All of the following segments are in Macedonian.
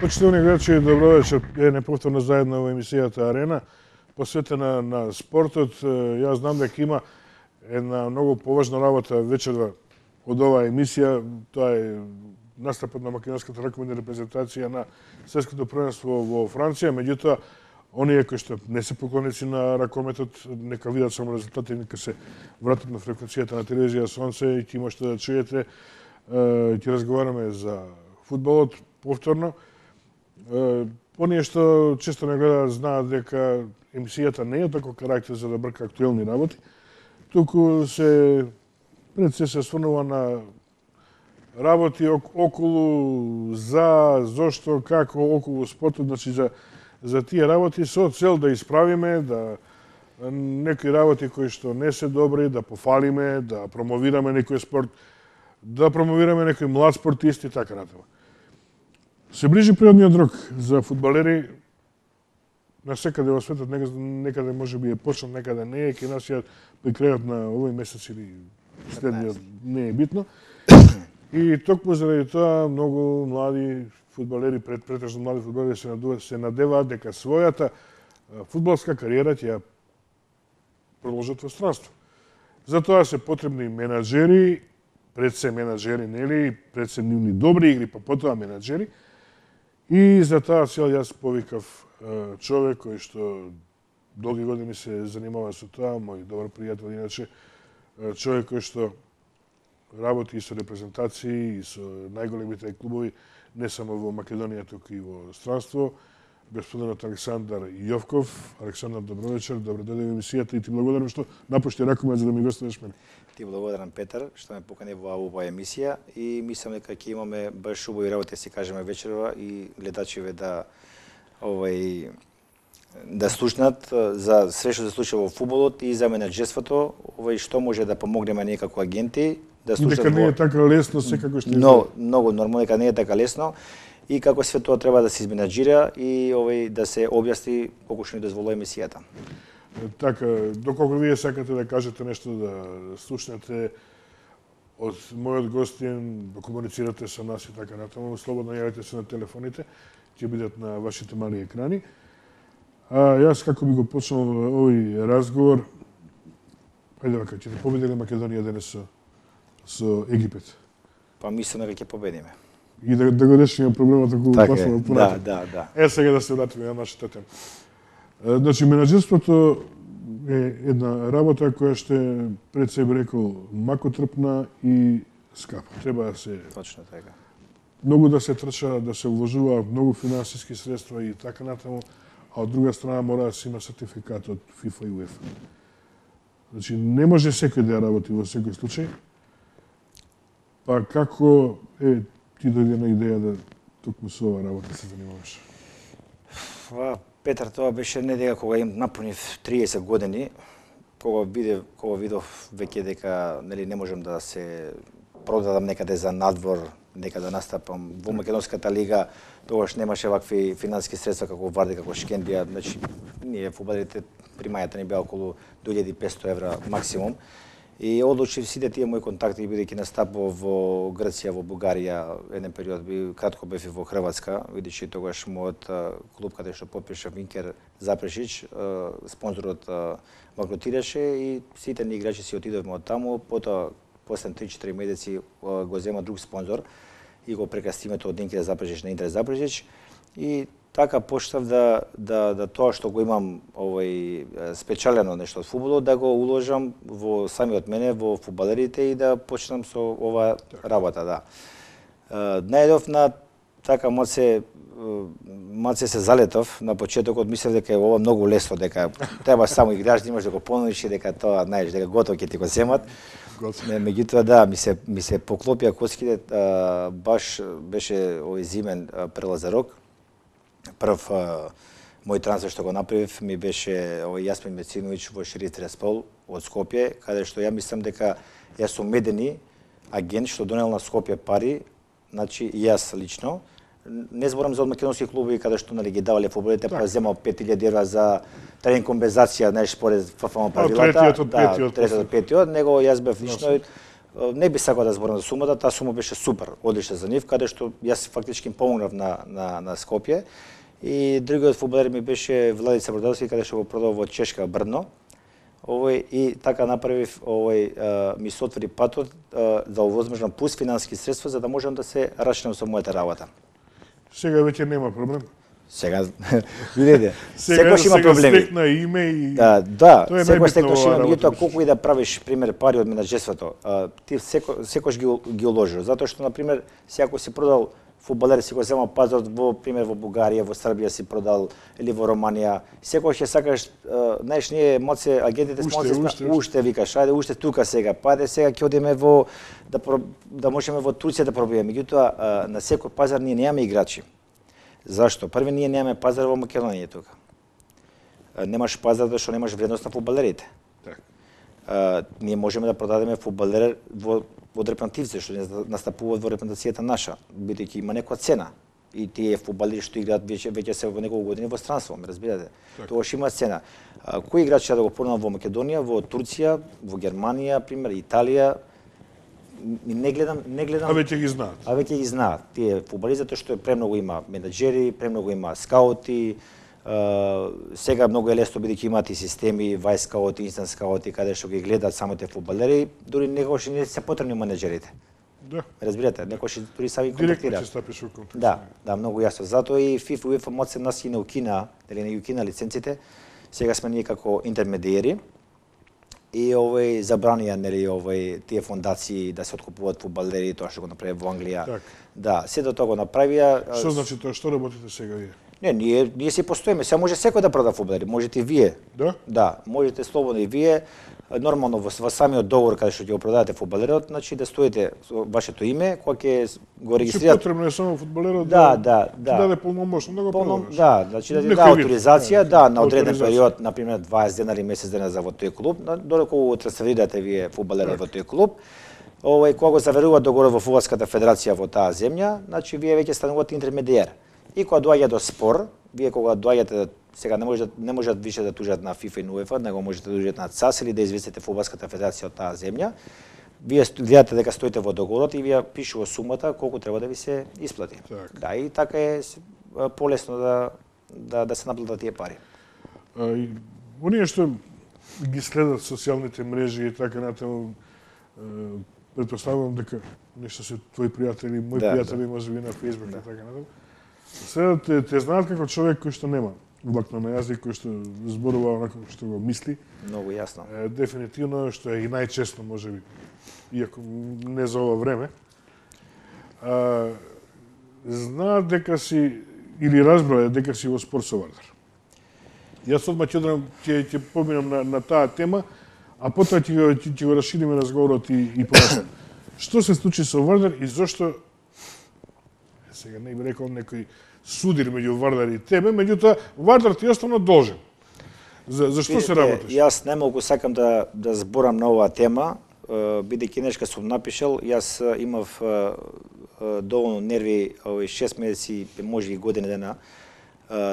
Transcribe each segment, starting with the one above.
Почитувани гледачи, добро вечер. Е неповторно заедно во емисијата Арена, посветена на спортот. Јас знам дека има една многу поважна работа вечерва од оваа емисија. Тоа е настапот на македонската раковидна репрезентација на светското првенство во Франција. Меѓутоа, оние кои што не се поклоници на ракометот, нека видат само резултати, нека се вратат на фреквенцијата на телевизија Сонце и ќе можете да чуете. Ќе разговараме за фудбалот повторно. Оние што често не гледаат знаат дека емисијата не е таков карактер за да брка актуелни работи, туку пред се осврнува на работи околу, зошто, како, околу спортот, значи за тие работи со цел да исправиме, да некои работи кои што не се добри, да пофалиме, да промовираме некој спорт, да промовираме некој млад спортист и така натаму. Се ближи природниот рок за фудбалери. Насекаде во светот, некаде може би е почнал, некаде не е, кај нас ја при крајот на овој месец или следниот, не е битно. И токму заради тоа многу млади фудбалери, претежно млади фудбалери се надеваат дека својата фудбалска кариера ќе ја продолжат во странство. Затоа се потребни менаџери, пред се менаџери, нели, пред се нивни добри игри, па потоа менаџери. И за таа цел јас повикав човек кој што долги години се занимава со тоа, мој добар пријател, иначе човек кој што работи и со репрезентации и со најголемите клубови, не само во Македонија, туку и во странство, господинот Александар Јовков. Александар, добро вечер, добро дојде во емисијата и ти благодарам што напушти ракомет за да ми гостуваш мене. Ти благодарам, Петар, што ме покани во оваа емисија и мислам дека ќе имаме баш убави работи да си кажеме вечерва и гледачиве да да слушнат за све што се случува во фудбалот и за менаџерството, што може да помогнеме ние како агенти, да слушнат. Дека не е така лесно секако што многу нормално дека не е така лесно и како све тоа треба да се изменаџира и да се објасни колку што ни дозволува емисијата. Така, доколку вие сакате да кажете нешто, да слушнете од мојот гостин, да комуницирате со нас и така натаму, слободно јавете се на телефоните, ќе бидат на вашите мали екрани. Јас како би го почнал овој разговор, ајде вака, ќе победи ли Македонија денес со Египет? Па мислам дека ќе победиме. И да го решиме проблемот околу пасова понатаму. Да. Сега да се вратиме на нашата тема. Значи, менаџерството е една работа која што е, пред себе рекол, макотрпна и скапа. Треба да се... Точно така. Многу да се трча, да се вложува многу финансиски средства и така натаму, а од друга страна мора да се има сертификат од ФИФА и УЕФА. Значи, не може секој да ја работи во секој случај. Па како ти дојде на идеја да токму со оваа работа се занимаваш? Петар, тоа беше не дека кога им напунив 30 години, кога видов веќе дека не можам да се продадам некаде за надвор, некаде да настапам во Македонската лига, тогаш немаше вакви финансиски средства како Варди, како Шкендија, значи ние фудбалерите примањата ни беа околу 2500 евра максимум. И одлучив сите тие мои контакти, бидејќи настапував во Грција, во Бугарија, еден период кратко бев и во Хрватска, видиш тогаш мојот клуб каде што потпиша Винкер Запрешич, спонзорот банкротираше и сите ни играчи си отидовме од таму, потоа после 3-4 месеци го зема друг спонзор и го прекрасти името од Винкер Запрешич на Интер Запрешич и така почнав да тоа што го имам спечалено нешто од фудбалот, да го уложам во самиот мене, во фудбалерите и да почнам со ова работа, да. Најдов на така малце се залетов на почетокот, мислев дека е ова многу лесно, дека треба само играш, имаш да го понудиш и дека тоа, знаеш, дека готово ќе ти го земат. Меѓутоа, да, ми се поклопија коските, баш беше овој зимен прелазен рок. Прв мој трансфер што го направив ми беше Јасмин Мециновиќ во Шериф Тираспол од Скопје, каде што ја мислам дека јас сум медени агент што донел на Скопје пари, значи јас лично. Не зборам за од македонски клуби каде што ги давале фудбалите, па земал 5000 евра за тренинг компензација, знаеш, според ФФМ правилата. Третиот од петиот, него јас бев лично не би сакал да зборам за сумата, таа сума беше супер, одлична за нив, каде што јас фактички им помогнав на Скопје. И другиот фудбалер ми беше Владица Бродовски, каде што го продав во Чешка Брно. И така направив, ми се отвори патот да овозможам пус финансиски средства за да можам да се рачнам со мојата работа. Сега веќе нема проблем. Сега видите, секој има проблеми. Сега стекна име и да, секој секој има, меѓутоа колку и да правиш пример пари од менаџерството, ти секој ги уложиш, затоа што на пример секој си продал фудбалер, си го зема пазар во пример во Бугарија, во Србија си продал или во Романија, секој ќе сакаш, знаеш, ние моце агентите сме уште викаш, ајде уште тука сега, ајде сега ќе одиме во да можеме во Турција да пробиеме, меѓутоа на секој пазар ние немаме играчи. Зашто? Први ние немаме пазар во Македонија тука. Немаш пазар зашто немаш вредност на фудбалерите. Ние можеме да продадеме фудбалер во репрезентативци што настапуваат во репрезентацијата наша, бидејќи има некоја цена. И тие фудбалери што играат веќе се во неколку години во странство, ме разбирате. Тогаш има цена. Кои играчи да го понудам во Македонија, во Турција, во Германија, пример, Италија, не гледам. А веќе ги знаат. А веќе ги знаат. Тие фудбалисти затоа што премногу има менаџери, премногу има скаути. Сега многу е лесно бидејќи имаат и системи, вајс скаути, инстант скаути, каде што ги гледаат самите фудбалери, дури некогаш не се потребни менаџерите. Да. Разбирате, некогаш дури сами контактираат. Директно ќе стапиш во контакт. Да, многу јасно. Затоа и ФИФА, УЕФА моци нас и не укина, дали не укина лиценците. Сега сме ние како интермедиери. И забранија нели тие фондации да се откупуваат фудбалери, тоа што го направи во Англија. Так. Да, се до тоа го направија. Што значи тоа? Што работите сега вие? Не, ние си постоиме. Сега може секој да прода фудбалери, можете и вие. Да? Да, можете слободно и вие. Нормално во самиот договор каде што ќе го продадете фудбалерот, значи да стоите со вашето име, кога ќе го регистрирате. Потребно е само фудбалерот да даде полномошно да го продаваш. Да, значи да даде авторизација, на одреден период, на пример 20 дена или месец дена за во тој клуб, додека го трансферирате вие фудбалерот во тој клуб. Кога го заверува договор во фудбалската федерација во таа земја, значи вие веќе станувате интермедиер. И кога доаѓа до спор, вие кога доаѓате сега не можат више да тужат на ФИФА и на УЕФА, него можете да тужат на ЦАС или да известите фудбалската федерација од таа земја. Вие гледате дека стоите во договорот и вие пишува сумата колку треба да ви се исплати. Так. Да, и така е полесно да се наплатат тие пари. Оние што ги следат социјалните мрежи и така натаму, претпоставувам дека нешто се твои пријатели, мои пријатели можеби на Facebook и така натаму. Сега те знаат како човек кој што нема влакно на јазик, кој што зборува онако што го мисли. Многу јасно. Дефинитивно, што е и најчесто можеби, иако не за ова време. Знаат дека си, или разбрале дека си во спор со Вардар. Јас одма ќе поминам на таа тема, а потоа ќе го расшириме разговорот и понатаму. Што се случи со Вардар и зошто, сега не би рекол некој судир меѓу Вардар и тебе, меѓутоа Вардар ти остана должен. За што се работиш? Јас немалку сакам да зборам на оваа тема, бидејќи нешка сум напишал, јас имав доволно нерви 6 месеци, може и година дена,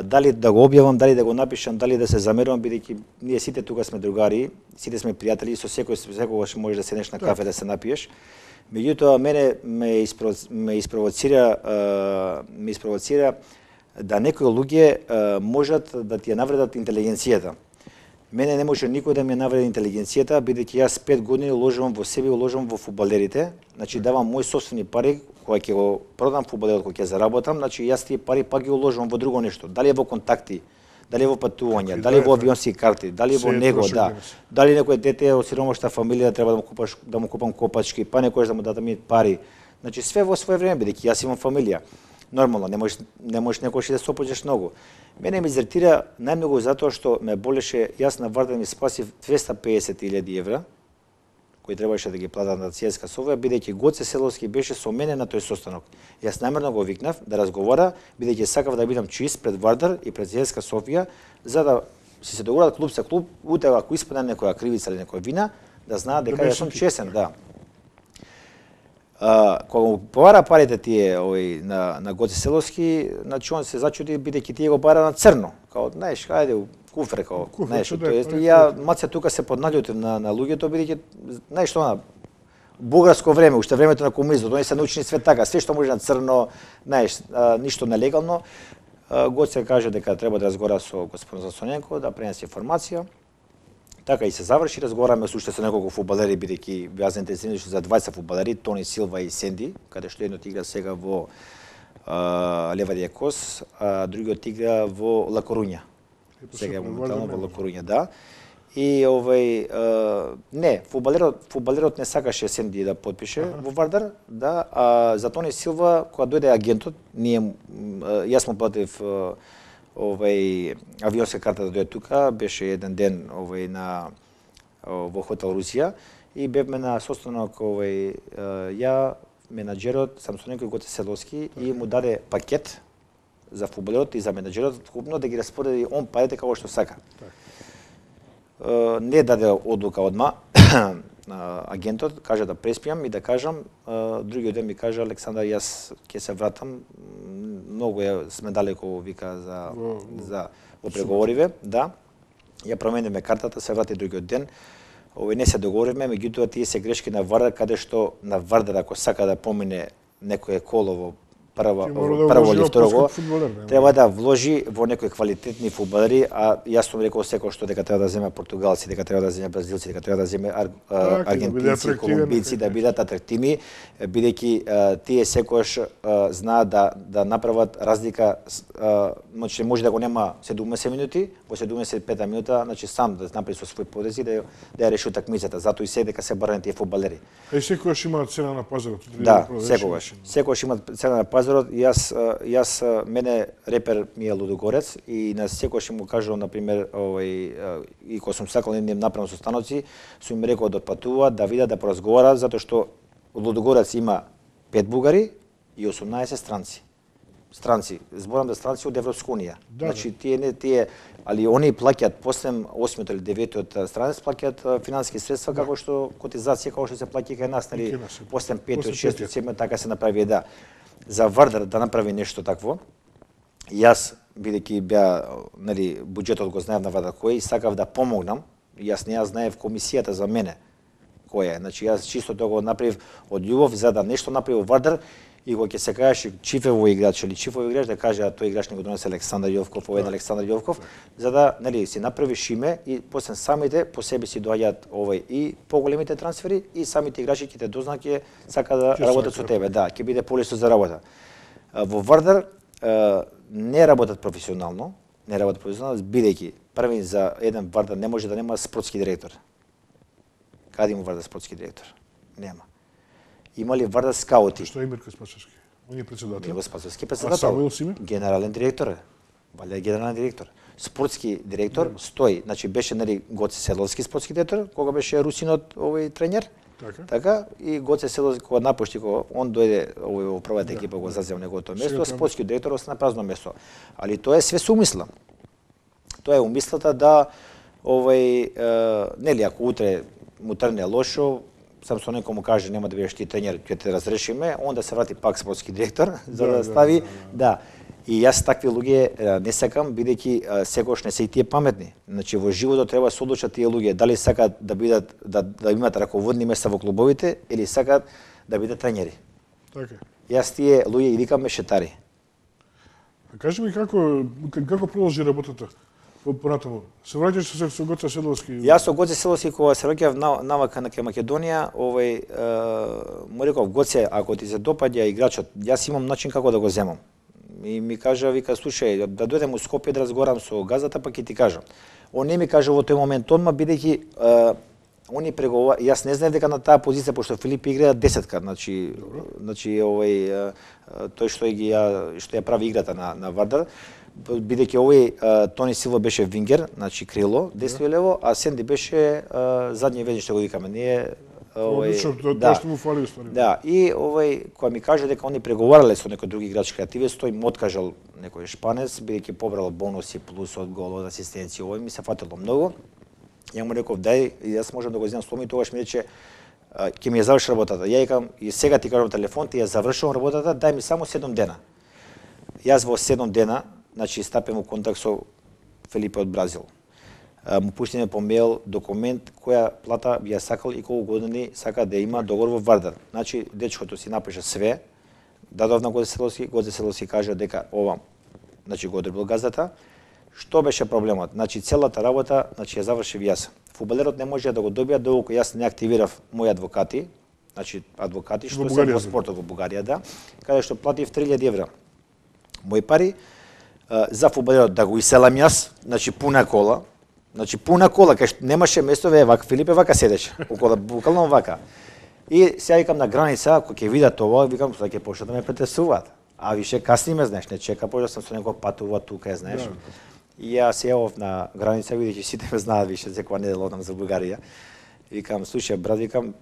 дали да го објавам, дали да го напишам, дали да се замерувам, бидејќи ние сите тука сме другари, сите сме пријатели, со секогаш можеш да седнеш на кафе да се напиеш. Меѓутоа, мене ме испровоцира да некои луѓе можат да ти ја навредат интелигенцијата. Мене не може никој да ми ја навреди интелигенцијата, бидејќи јас 5 години уложувам во себе, уложувам во фудбалерите, значи давам мои собствени пари, кога ќе го продам фудбалерот, кога ќе заработам, значи јас тие пари пак ги уложувам во друго нешто. Дали е во контакти, дали е во патувања, дали во авионски карти, дали во него, дали некој дете од сиромашна фамилија треба да му купам копачки, па некој да му дадам пари. Значи све во свое време, бидејќи јас имам фамилија. Нормално, не можеш некојаш да се опоđеш многу. Мене ме изертира најмногу затоа што ме болеше, јас на Вардар ми спасив 250.000 евра, кои требаше да ги платат на ЦСКА Софија, бидејќи Гоце Селовски беше со мене на тој состанок. Јас намерно го викнав да разговара, бидејќи сакав да бидам чист пред Вардар и пред ЦСКА Софија, за да се договорат клуб со клуб, утре ако испадне некоја кривица или некоја вина, да знаат дека јас сум честен, да. Кога му побара парите тие на Гоце Селовски, значи он се зачуди бидејќи тие го бара на црно. Као, знаеш, ајде куфер, знаеш, ја маца тука се подналјутив на луѓето, бидејќи, знаеш што, бугарско време, уште времето на комунизмот, они се научени све така, све што може на црно, знаеш, ништо нелегално. Гоце каже дека треба да разговара со господин Засоненко, да пренесе информација. Така и се заврши, разговараме со уште со неколку фудбалери, бидејќи беа заинтересирани за 20 фудбалери, Тони Силва и Сенди, каде што едното игра сега во Левадија Кос, а другиот игра во Ла Корунја. Сега моментално во Ла Корунја, да. И не, фудбалерот не сакаше Сенди да потпише во Вардар, да, а за Тони Силва кога дојде агентот, јас му платив авионска карта да дојде тука, беше еден ден во хотел Русија и бевме на состанок ја, менаџерот Самсоненко и Гоце Седловски и му даде пакет за фудбалерот и за менаџерот, купно да ги распореди он парите како што сака. Не даде одлука одма агентот, кажа да преспијам и да кажам, другиот ден ми кажа Александар, јас ќе се вратам, многу сме далеко, вика, за во преговориве, да. Ја промениме картата, се врати другиот ден. Не се договоривме, меѓутоа тие се грешки на Вардар, каде што на Вардар ако сака да помине некое коло во прво или второ, треба да вложи во некои квалитетни фудбалери, а јас сум рекол секој што дека треба да земе португалци, дека треба да земе бразилци, дека треба да земе аргентинци, колумбици, да бидат атрактивни, бидејќи тие секојаш знаат да направат разлика, значи може да го нема 70 минути, во 75 минута, значи сам да направи со свој подези да ја реши утакмицата, затоа и се дека се барани тие фудбалери. И секојаш има цена на пазарот. Да, секојаш има цена на пазарот. Јас мене репер ми е Лудогорец и на секојаш му кажувам, например, и кога сум сакал да направам состаноци, сум им рекол да патуваат, да видат, да поразговараат, затоа што Лудогорец има 5 бугари и 18 странци. Зборам да странци од Европска унија. Значи тие, али они плаќаат после 8 или 9 странец плаќаат финансиски средства како што котизација како што се плаќа кај нас, нели, после 5 6 7 така се направи, да. За Вардар да направи нешто такво, јас, бидејќи беа, нели, буџетот го знаев на Вардар кој, сакав да помогнам, јас не ја знаев комисијата за мене која е. Значи јас чисто тоа го направив од љубов за да нешто направи Вардар и кога ќе се кажеше Чифево играч или Чифово играч да каже тој играч не го донесе Александар Јовков, овој Александар Јовков, за да, нели, си направиш име и после самите по себе си доаѓаат и поголемите трансфери и самите играчи ќе те дознаат ќе сака да работат со тебе, да, ќе биде полесно за работа. Во Вардар не работат професионално, бидејќи први за еден Вардар не може да нема спортски директор. Каде има Вардар спортски директор? Нема. Има ли Вардар скаути? Што е Мирко Спасовски? Он е председател. Мирко Спасовски председател. А Самуил Симе? Генерален директор. Валја генерален директор. Спортски директор стои, значи беше, нели, Гоце Седловски спортски директор, кога беше русинот тренер. Така и Гоце Седловски кога напушти, кога он дојде во првата екипа го зазема неговото место, спортски директор остана празно место. Али тоа е све со умисла. Тоа е умислата да нели, ако утре му трне лошо, Самсоненко му каже нема да бидеш ти тренер, ќе те разрешиме, он да се врати пак спортски директор за да стави, да. И јас такви луѓе не сакам, бидејќи секогаш не се и тие паметни. Значи во животот треба се одлучат тие луѓе дали сакаат да бидат да имаат раководни места во клубовите или сакаат да бидат тренери. Така. Јас тие луѓе ги викам мешетари. Кажи ми како продолжи работата? Понатаму. Се враќаш со Гоце Седловски? Јас со Гоце Седловски кога се враќав навака на Македонија, му реков Гоце, ако ти се допаѓа играчот, јас имам начин како да го земам. И ми кажа, вика, слушај, да дојдем у Скопје да разговарам со газата, па ќе ти кажам. Он не ми кажа во тој момент одма, бидејќи они преговара, јас не знаев дека на таа позиција, пошто Филип игра 10-ка, значи тој што ја прави играта на Вардар, бидејќи Тони Силва беше вингер, значи крило, десно и лево, а Сенди беше задни вежи, што го викаме. Ние тоа што му фали уствари. Да, и кога ми кажа дека они преговарале со некој други играч креативец, тој му откажал некој шпанец, бидејќи побрал бонуси плюс од гол, од асистенција, ми се фатило многу. Ја му реков, дај, јас можам да го земам сломи, тогаш ми рече, ќе ми ја заврши работата. Ја викам, и сега ти кажам телефон, ти ја завршувам работата, дај ми само 7 дена. Јас во 7 дена, значи стапем во контакт со Фелипе од Бразил. му пуштиме по мејл документ која плата би ја сакал и колку години сака да има договор во Вардар. Значи дечкото си напиша све, дадов на Гоце Селовски кажа дека ова, значи го одрбил газдата. Што беше проблемот? Значи целата работа, значи ја завршив јас. Фудбалерот не може да го добија доколку јас не активирав мои адвокати, значи адвокати што се во спортот во Бугарија, да, каде што платив 3000 евра мои пари за фудбалерот да го иселам јас, значи пуна кола, кај што немаше место, вака Филипе вака седеше, околу буквално вака. И сега викам на граница, ако ќе видат ова, викам што ќе почнат да ме претесуваат. А више касниме, знаеш, не чека, почнав сам со некој патува тука, знаеш. Да. И ја се јавов на граница, видејќи сите ме знаат више, секоја недела одам за Бугарија. Викам, слушај брат, викам,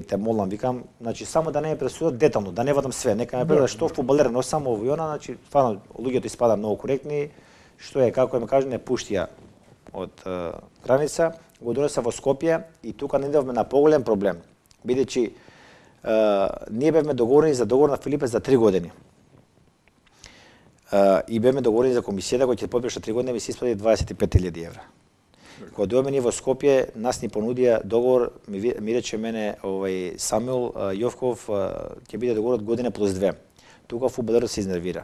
те молам, викам, значи само да не ме пресудат детално, да не вадам све, нека ме пресудат што фудбалер, но само ово и она, значи стварно луѓето испада многу коректни, што е како ме кажа, не пушти ја од граница, го донеса во Скопје и тука не идевме на поголем проблем, бидејќи ние бевме договорени за договор на Филипе за 3 години. И бевме договорени за комисијата која ќе подпише 3 години, ми се исплати 25.000 евра. Кога дојдоме ние во Скопје, нас ни понудија договор, ми рече мене Самуил Јовков, ќе биде договорот година плюс 2. Тука фудбалерот се изнервира.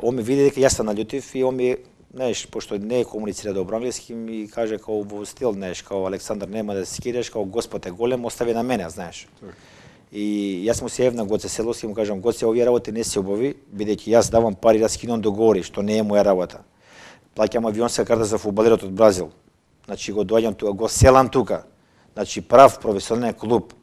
Он ми види дека јас се наљутив и он ми, знаеш, пошто не комуницира добро англиски, ми каже као во стил, знаеш, као Александар нема да се скидеш, као Господ е голем, остави на мене, знаеш. И јас му се јавив на Гоце Селовски и му кажам, Гоце, овие работи не се убави, бидејќи јас давам пари да скинам договори, што не е моја работа. Плаќам авионска карта за фудбалерот од Бразил. Значи го доаѓам тука, го селам тука. Значи прав професионален клуб.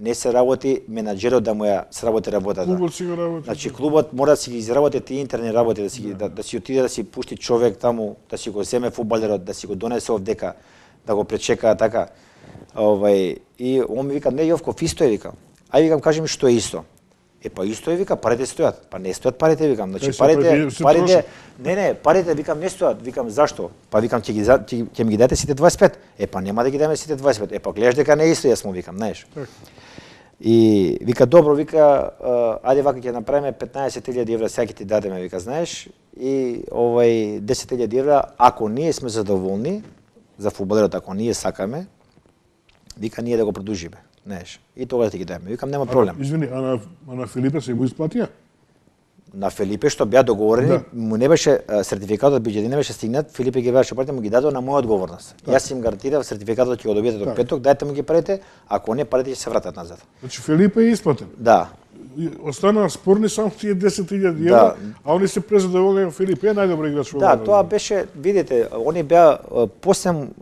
Не се работи менаџерот да му ја сработи работата. Клубот си го работи. Значи клубот мора да си ги изработи тие интерни работи, да си отиде да си пушти човек таму, да си го земе фудбалерот, да си го донесе овдека, да го пречека така. И он ми вика, не Јовков, исто е, вика. Ај викам, кажи ми што е исто. Па исто е, вика, парите стојат. Па не стојат парите, викам. Значи парите викам не стојат. Викам зашто? Па викам ќе ми ги дадете сите 25. Па нема да ги дадеме сите 25. Па гледаш дека не е исто, јас му викам, знаеш. И вика добро, вика ајде вака ќе направиме 15.000 евра сега ќе ти дадеме, вика, знаеш. И 10.000 евра ако ние сме задоволни за фудбалерот, ако ние сакаме, вика ние да го продолжиме. Знаеш, и тогаш ти ги дајме. Викам, нема проблем. Извини, а на Филипе се го исплатија? На Филипе што беа договорени, му не беше сертификатот биџеди не беше стигнат, Филипе ги беше платил, му ги дадо на моја одговорност. Јас им гарантирав сертификатот ќе го добиете до петок, дајте му ги парите, ако не парите ќе се вратат назад. Значи Филипе е исплатен. Да. Остана спорни само тие 10.000 евра, а они се презадоволни, Филипе е најдобар играч во Да, тоа беше, видите, они беа посем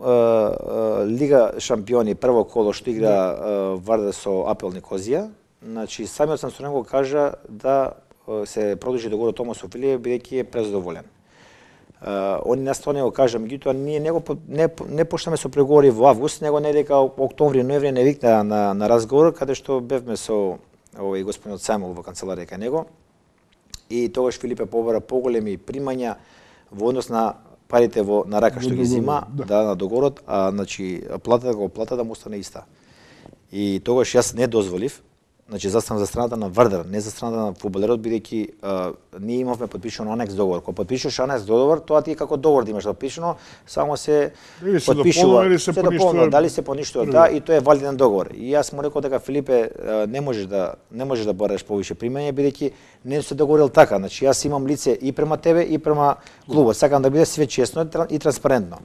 Лига шампиони, прво коло што игра Вардар со АПЛ Никозија. Значи самиот Самсоненко кажа да се продолжи договорот Тома со Филипе бидејќи е презадоволен. Они настојано го кажа, меѓутоа ние не почнеме со преговори во август, него не дека октомври, ноември не викна на разговор каде што бевме со господинот Самуил во канцеларија кај него. И тогаш Филипе побара поголеми примања во однос на парите на рака што ги зима, на договорот, а значи платата му остане иста. И тогаш јас не дозволив, значи застанав за страната на Вардар, не за страната на фудбалерот, бидејќи ние имавме подпишано анекс договор. Кога подпишуваш анекс договор, тоа ти е како договор да имаш подпишано, само се подпишува, се дополнува, дали се поништува, да, и тоа е валиден договор. И јас му рекол дека Филипе не можеш да бараш повише примање, бидејќи не се договорил така. Значи јас имам лице и према тебе и према клубот. Сакам да биде све честно и транспарентно.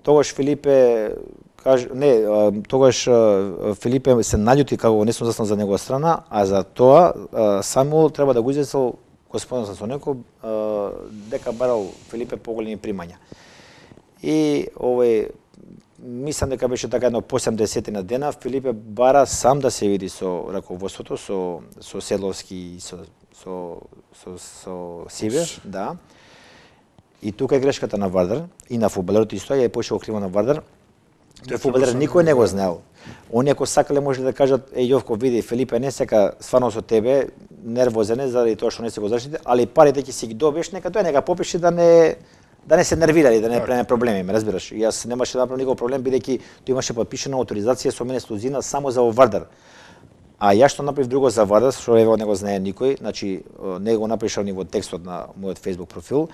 Тогаш Филипе тогаш Филипе се наљути како не сум застанал за негова страна, а за тоа Самуил треба да го известил господин Самсоненко дека барал Филипе поголеми примања. И мислам дека беше така едно по 70 на дена, Филипе бара сам да се види со раководството, со Селовски и со Сиве, да. И тука е грешката на Вардар и на фудбалерот исто, ја е пошел криво на Вардар. Тој фудбалер никој не го знаел. Они ако сакале може да кажат, Јовко, види, Филипе не сека стварно со тебе, нервозен е заради тоа што не се го заштити, али парите ќе си ги добиеш, нека попиши да не се нервира и да не преме проблеми, ме разбираш. Јас немаше да направам никој проблем бидејќи тој имаше подпишана авторизација со мене ексклузивна само за Вардар. А јас што направив друго за Вардар, што не го знае никој, значи не го напишав ни во текстот на мојот Facebook профил.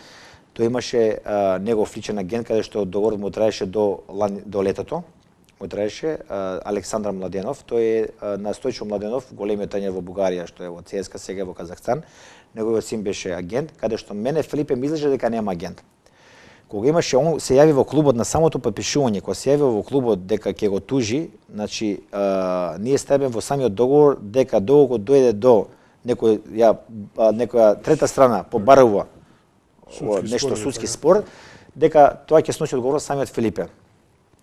Тој имаше негов личен агент каде што договорот му траеше до летото. Му траеше Александар Младенов, тој е на Стојчо Младенов, големиот тренер во Бугарија, што е во ЦСКА, сега во Казахстан. Неговиот син беше агент, каде што мене Филипе ми излеže дека нема агент. Кога имаше он се јави во клубот на самото подпишување, кога се јави во клубот дека ќе го тужи, значи ние ставиме во самиот договор дека доколку дојде до некоја трета страна побарува нешто судски спор, дека тоа ќе сноси одговорност самиот Филипе.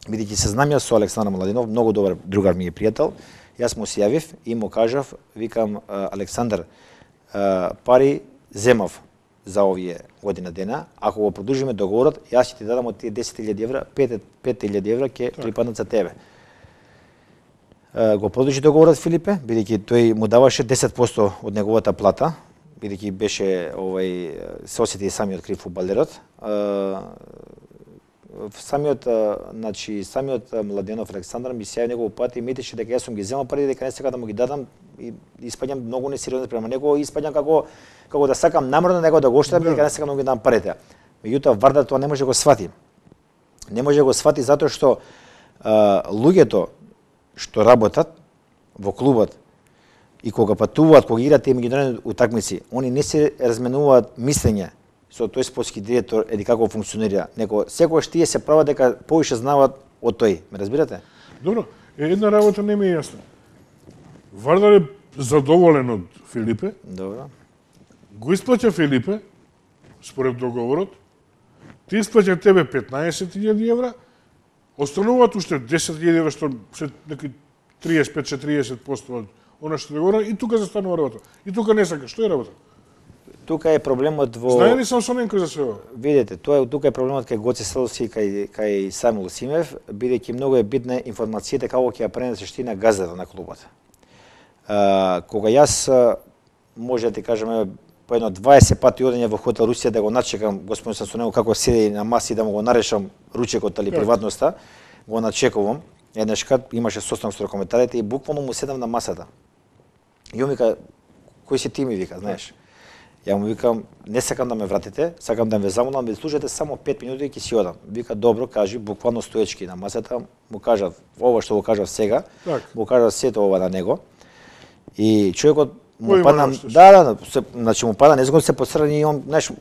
Бидејќи се знам јас со Александар Младенов, многу добар другар ми е пријател, јас му се јавив и му кажав, викам Александар, пари земав за овие година дена, ако го продолжиме договорот, јас ќе ти дадам од тие 10.000 евра, 5.000 евра ќе припаднат за тебе. Го продолжи договорот Филипе, бидејќи тој му даваше 10% од неговата плата, бидејќи беше се осети самиот крив фудбалерот. Самиот Младенов Александар ми се јави негово пат и митеше дека јас сум ги земал пари, дека не сакам да му ги дадам и испаѓам многу несериозно према него, испаѓам како да сакам намерно него да го оштетам, дека не сакам да му ги дам парите. Меѓутоа Вардар тоа не може да го свати. Не може да го свати затоа што луѓето што работат во клубот и кога патуваат, кога играат тие меѓународни утакмици, они не се разменуваат мислење со тој спортски директор еди како функционира. Него секогаш тие се прават дека повише знаат од тој. Ме разбирате? Добро, една работа не ми е јасна. Вардар е задоволен од Филипе. Добро. Го исплаќа Филипе според договорот. Ти исплаќа тебе 15.000 евра, остануваат уште 10.000 евра што се неки 35-40% од она што договора и тука застанува работа. И тука не сака, што е работа? Тука е проблемот во... Знае ли Самсоненко за све? Видете, тука е проблемот кај Гоце Селовски и кај Самил Симев, бидејќи многу е битна информацијата како ќе ја пренесеш ти на газдата на клубот. Кога јас може да ти кажам по едно 20 пати одење во хотел Русија да го начекам господин Самсоненко како седи на маси да му го нарешам ручекот или приватноста, го начекувам. Еднашкат имаше состанок со коментарите и буквално му седам на масата. И он вика, кој си ти ми вика, знаеш? Ја му викам, не сакам да ме вратите, сакам да ме замолам, да слушате само 5 минути и ќе си одам. Вика, добро, кажи, буквално стоечки на масата, му кажав, ова што го кажав сега, му кажав сето ова на него. И човекот му падна, значи му падна, незгодно се посрани и он, знаеш,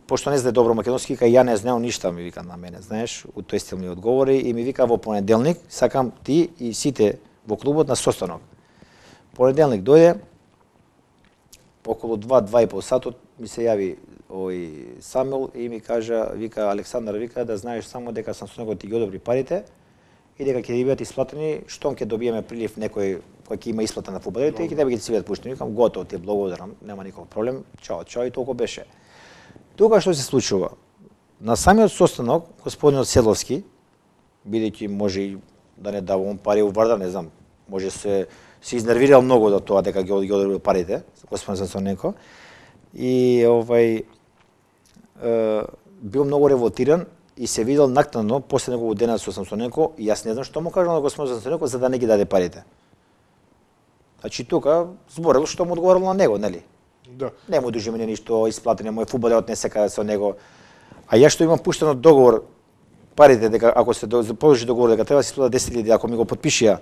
пошто не знае добро македонски, вика, ја не знаел ништа, ми вика на мене, знаеш, у тој стил ми одговори и ми вика во понеделник, сакам ти и сите во клубот на состанок. Понеделник дојде, околу 2-2,5 сатот ми се јави овој Самил и ми кажа, вика Александар, вика да знаеш само дека Самсоненко ти ги одобри парите и дека ќе бидат исплатени штом ќе добиеме прилив некој кој ќе има исплата на фудбалерите и ќе тебе ќе си бидат пуштени. Викам готово, ти благодарам, нема никаков проблем. Чао, чао и толку беше. Тука што се случува? На самиот состанок господинот Селовски, бидејќи може и да не дава он пари у Вардар, не знам, може се изнервирал многу до тоа дека ги одобрил парите, господин Самсоненко, и бил многу револтиран и се видел накнадно после негово дена со Самсоненко и јас не знам што му кажал на господин Самсоненко за да не ги даде парите. Значи тука зборел што му одговорил на него, нели? Да. Не му дужи мене ништо исплатено, мој фудбалерот не сека со него. А јас што имам пуштено договор парите дека ако се положи договор дека треба да се исплата 10.000 ако ми го потпишија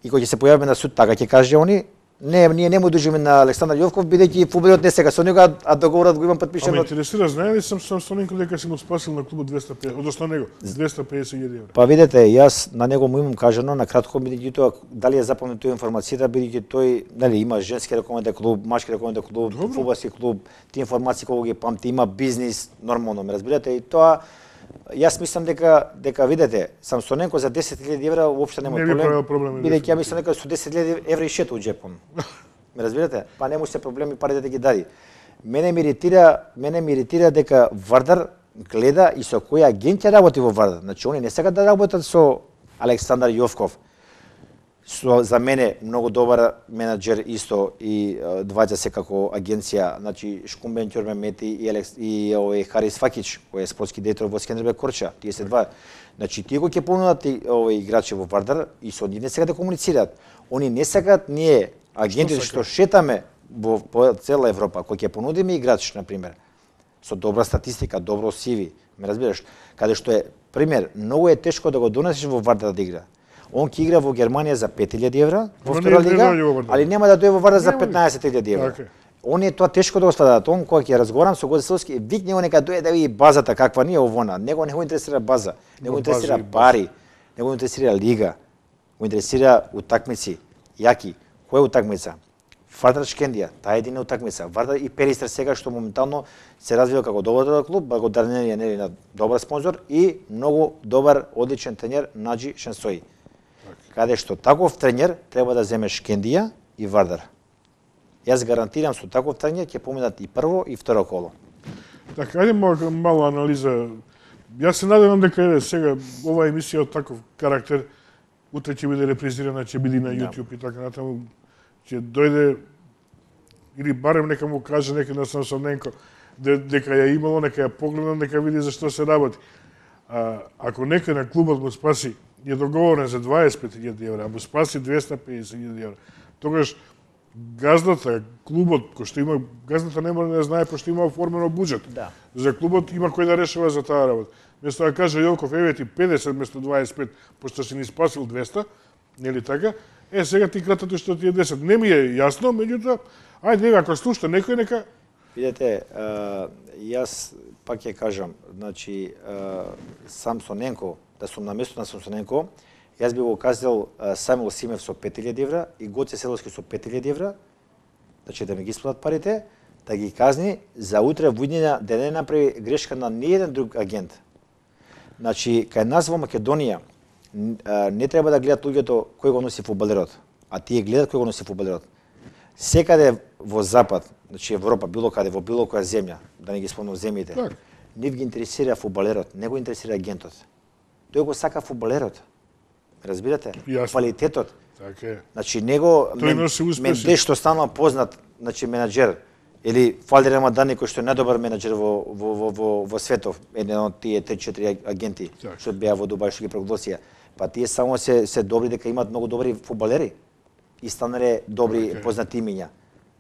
и кој ќе се појавиме на суд, така ќе каже они, не, ние не му дужиме на Александар Јовков, бидејќи фудбалерот не сега со него, а договорот го имам потпишен. Ама интересира, знае ли Самсоненко дека си му спасил на клубот 250, односно него 250.000 евра? Па видете, јас на него му имам кажано на кратко, бидејќи тоа дали е запомнет тој информацијата, бидејќи тој, нели, има женски рекомендан клуб, машки рекомендан клуб, фудбалски клуб, тие информации кога ги памти, има бизнис, нормално, ме разбирате, и тоа јас мислам дека видете, Самсоненко за 10.000 евра уопште нема проблем, бидејќи ја мислам дека со 10.000 евра и шета у џепом. Ме разбирате? Па нема се проблеми парите да ги дади. Мене ми иритира дека Вардар гледа и со која агенција работи во Вардар. Значи они не сакат да работат со Александар Јовков. За мене многу добар менаџер исто и двајца се како агенција, значи Шкумбен Ќормемети и овој Харис Факич, кој е спортски директор во Скендербег Корча, тие се два. Значи тие кои ќе понудат овој играчи во Вардар и со нив не сакат да комуницираат. Они не сакат ние агентите што шетаме по цела Европа, кој ќе понудиме играч на пример. со добра статистика, добро CV, ме разбираш, каде што е пример, многу е тешко да го донесеш во Вардар да игра. Он ќе игра во Германија за 5000 евра во втора лига, али нема да дојде во Вардар за 15.000 евра. Он е тоа тешко да го сватат. Он кога ќе разговарам со Гоце Селски, викне него нека дојде да види базата каква не е овона. Него не го интересира база, него го интересира пари, него го интересира лига, го интересира утакмици, јаки. Која утакмица? Вардар Шкендија, таа е едина утакмица. Вардар и Перистер сега што моментално се развива како добар клуб, благодарение нели на добар спонзор и многу добар одличен тренер Наџи Шенсои. Каде што таков тренер треба да земе Шкендија и Вардар. Јас гарантирам со таков тренер ќе поминат и прво и второ коло. Така, ајде мала анализа. Јас се надевам дека сега оваа емисија од таков карактер утре ќе биде репризирана, ќе биде на YouTube и така натаму, ќе дојде или барем нека му каже некој на Самсоненко дека ја имало, нека ја погледа, нека види за што се работи. Ако некој на клубот му спаси е договорен за 25.000 евра, а му спаси 250.000 евра, тогаш газдата, клубот, кој што има, газдата не може да знае пошто има оформено буџет. Да. За клубот има кој да решава за таа работа. Место да каже Јолков, еве ти 50 место 25, пошто си ни спасил 200, нели така? Сега ти кратото што ти е 10. Не ми е јасно, меѓутоа, ајде, ако слушате некој, нека... Видете, јас пак ќе кажам, значи, Самсоненко, да сум на место на Самсоненко, јас би го казал Самуил Симев со 5000 евра и Гоце Селски со 5000 евра, значи да ми ги исплатат парите, да ги казни за утре во да не направи грешка на ниеден друг агент. Значи, кај нас во Македонија не треба да гледат луѓето кој го носи фудбалерот, а тие гледат кој го носи фудбалерот. Секаде во Запад, значи Европа, било каде, во било која земја, да не ги спомнам земјите, не ги интересира фудбалерот, не го интересира агентот. Тој го сака фудбалерот. Разбирате? Квалитетот. Така е. Значи него Менде што станува познат, значи менаџер или Фалди Рамадан кој што е најдобар менаџер во светов, еден од тие 3-4 агенти што беа во Дубај што ги прогласија. Па тие само се добри дека имаат многу добри фудбалери и станале добри познати имиња.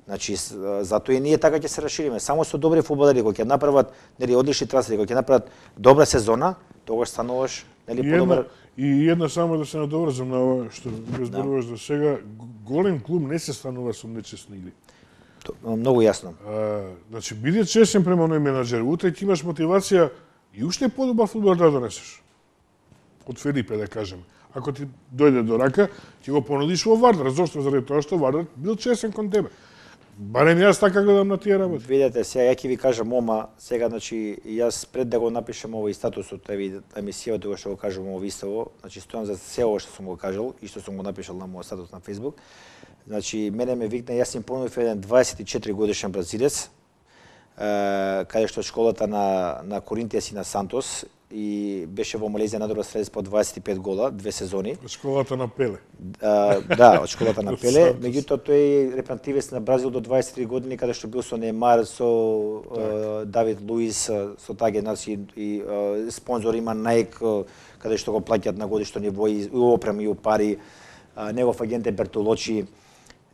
Значи затоа и ние така ќе се расшириме. Само со добри фудбалери кои ќе направат нели одлични трансфери, кои ќе направат добра сезона, тогаш стануваш нели подобар. И една само да се надоврзам на ова што го зборуваш до сега, голем клуб не се станува со нечесни игри. Многу јасно. Значи биде честен према оној менаџер, утре ќе имаш мотивација и уште подобар фудбал да донесеш. Од Филипе да кажем. Ако ти дојде до рака, ќе го понудиш во Вардар. Зошто? Заради тоа што Вардар бил честен кон тебе. Барем јас така гледам на тие работи. Видете, сега ја ќе ви кажам сега значи јас пред да го напишам овој статусот, емисијата кога што го кажам ово истово, значи стојам за се ова што сум го кажал и што сум го напишал на мојот статус на Facebook. Значи мене ме викна, јас им понудив еден 24 годишен бразилец, каде што школата на Коринтијас и на Сантос и беше во Малезија најдобар стрелец по 25 гола, 2 сезони. Од школата на Пеле. Да, од школата на Пеле. Меѓутоа тој е репрезентативец на Бразил до 23 години, каде што бил со Неймар, со Давид Луис, со таа генерација и спонзор има Nike, каде што го плаќаат на годишно ниво и опрема и пари. Негов агент е Бертолочи,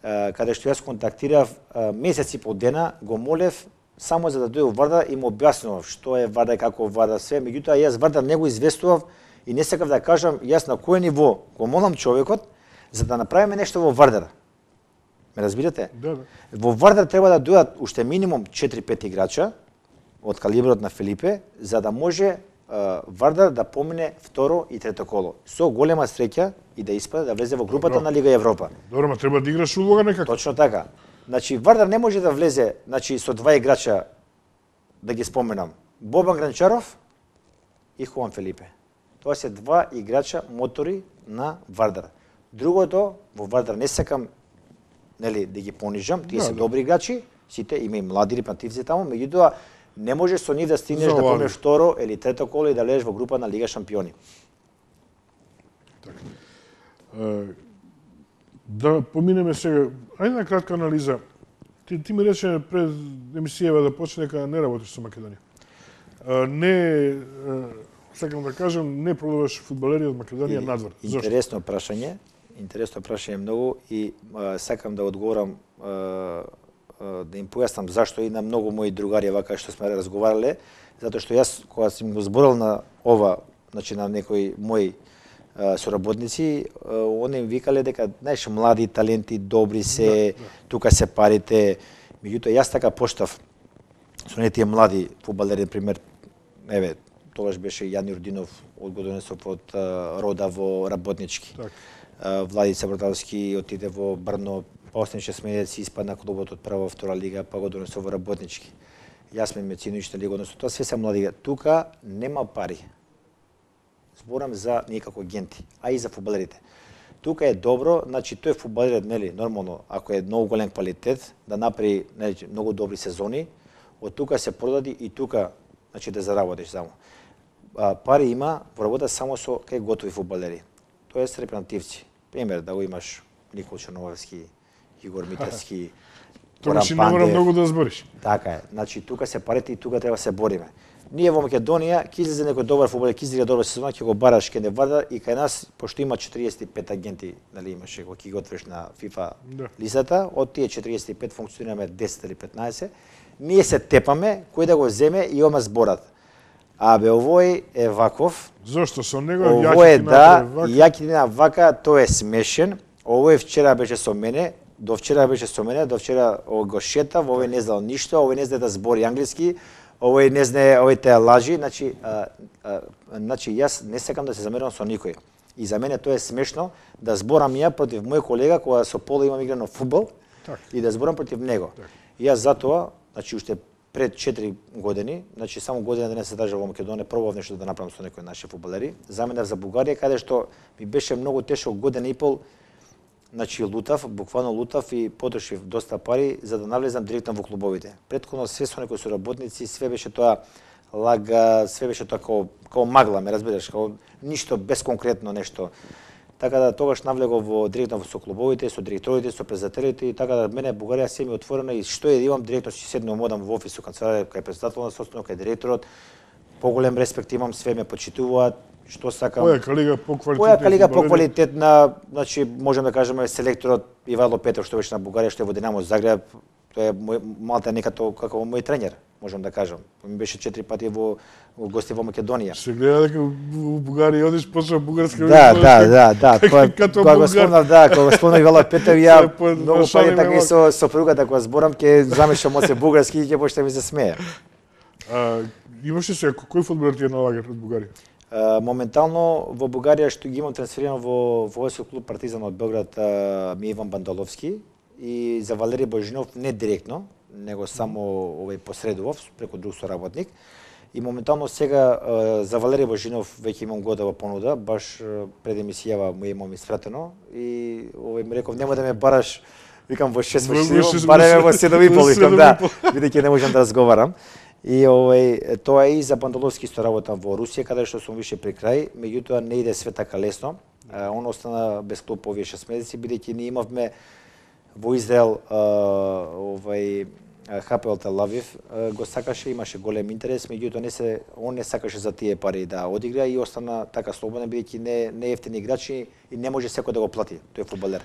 каде што јас контактирав месеци по дена, го молев само за да дојде во Вардар и му објаснував што е Вардар, како Вардар, све. Меѓутоа јас Вардар не го известував и не сакав да кажам јас на кој ниво го молам човекот за да направиме нешто во Вардар. Ме разбирате? Да. Во Вардар треба да дојдат уште минимум 4-5 играча од калиброт на Филипе за да може Вардар да помине второ и трето коло. Со голема среќа и да испаде да влезе во групата на Лига Европа. Добро, ма треба да играш улога некако. Точно така. Значи Вардар не може да влезе, значи со два играча да ги споменам. Бобан Гранчаров и Хуан Филипе. Тоа се два играча мотори на Вардар. Другото во Вардар не сакам нели да ги понижам, тие се добри играчи, сите има и млади репрезентативци таму, меѓутоа не можеш со нив да стигнеш да поминеш второ или трето коло и да лезеш во група на Лига шампиони. Така. Да поминеме сега, ајде на кратка анализа. Ти ми рече пред емисијава да почне дека не работиш со Македонија. Не, сакам да кажам, не продаваш фудбалери од Македонија надвор. Зошто? Интересно прашање многу и сакам да одговорам да им појаснам зашто и на многу мои другари вака што сме разговарале, затоа што јас кога сум го зборил на ова, значи на некои мои соработници, они им викале дека, знаеш, млади таленти, добри се, тука се парите. Меѓутоа јас така поштав со тие млади фудбалери, пример, еве, тогаш беше Јани Родинов од го донесов од Рода во Работнички. Владица Бродалски отиде во Брно, па остане 6 месеци, испадна клубот од прва во втора лига, па го донесов во Работнички. Јас ме Мециновиќ лига, односно тоа све се млади. Тука нема пари. Зборам за ние како агенти, а и за фудбалерите. Тука е добро, значи тој фудбалерот, нели, нормално, ако е многу голем квалитет, да направи, нели, многу добри сезони, од тука се продади и тука, значи да заработиш само. Пари има во работа само со кај готови фудбалери. Тоест репрезентативци. Пример да го имаш Никол Черновски, Игор Митевски, Тоа не мора многу да збориш. Така е. Значи тука се парите и тука треба да се бориме. Ние во Македонија ќе излезе некој добар фудбалер, ќе излезе добра сезона, ќе го бараш, ќе не варда и кај нас пошто има 45 агенти, нели имаше кога ќе го отвориш на FIFA листата, од тие 45 функционираме 10 или 15. Ние се тепаме кој да го земе и ома зборат. Абе овој е ваков. Зошто со него овој е јаки на вака, тој е смешен. Овој вчера беше со мене, до вчера го шетав, овој не знал ништо, овој не знае да збори англиски. Овој не знае, овој те лажи, значи јас не сакам да се замерам со никој. И за мене тоа е смешно да зборам ја против мој колега кога со Пола имам играно фудбал и да зборам против него. И јас затоа, значи уште пред 4 години, значи само година да не се држав во Македонија, пробав нешто да направам со некои наши фудбалери. Заминав за Бугарија каде што ми беше многу тешко година и пол. Значи лутав, буквално лутав и потрошив доста пари за да навлезам директно во клубовите. Претходно све со некои соработници, све беше тоа лага, све беше тоа како магла, ме разбираш, како ништо безконкретно нешто. Така да тогаш навлегов во директно со клубовите, со директорите, со председателите и така да мене Бугарија се ми отворена и што е да имам директно ќе седнам одам во офис со канцеларија кај председател на собствено, кај директорот. Поголем респект имам, све ме почитуваат. Што сакам? Појака лига по квалитетна, значи можеме да кажеме селекторот Ивайло Петров што беше на Бугарија, што е во Динамо Загреб, тоа е малта некато како мој тренер, можам да кажам. Ми беше 4 пати во гости во Македонија. Се гледа дека во Бугарија одиш почна бугарска. Да. Кога го спомнав Ивайло Петров, ја многу пати така и со сопругата кога зборам ќе замешам моце бугарски и ќе почне ми се смее. Имаше се кој фудбалер ти е налагар од Бугарија? Моментално во Бугарија што ги имам трансферирано во војски клуб Партизан од Белград ми Иван Бандаловски и за Валери Божинов не директно, него само овој посредував преку друг соработник. И моментално сега за Валери Божинов веќе имам готова понуда, баш пред емисијава му имам испратено и овој ми реков нема да ме бараш, викам во 6 месеци, бареме во 7,5, викам да, бидејќи не можам да разговарам. И тоа и за Бандаловски што работам во Русија, каде што сум више при крај, меѓутоа не иде све така лесно. Он остана без клуб овие 6 месеци, бидејќи ние имавме во Израел ХПЛ Тел Авив го сакаше, имаше голем интерес, меѓутоа он не сакаше за тие пари да одигра и остана така слободен, бидејќи не ефтини играчи и не може секој да го плати, тој фудбалер.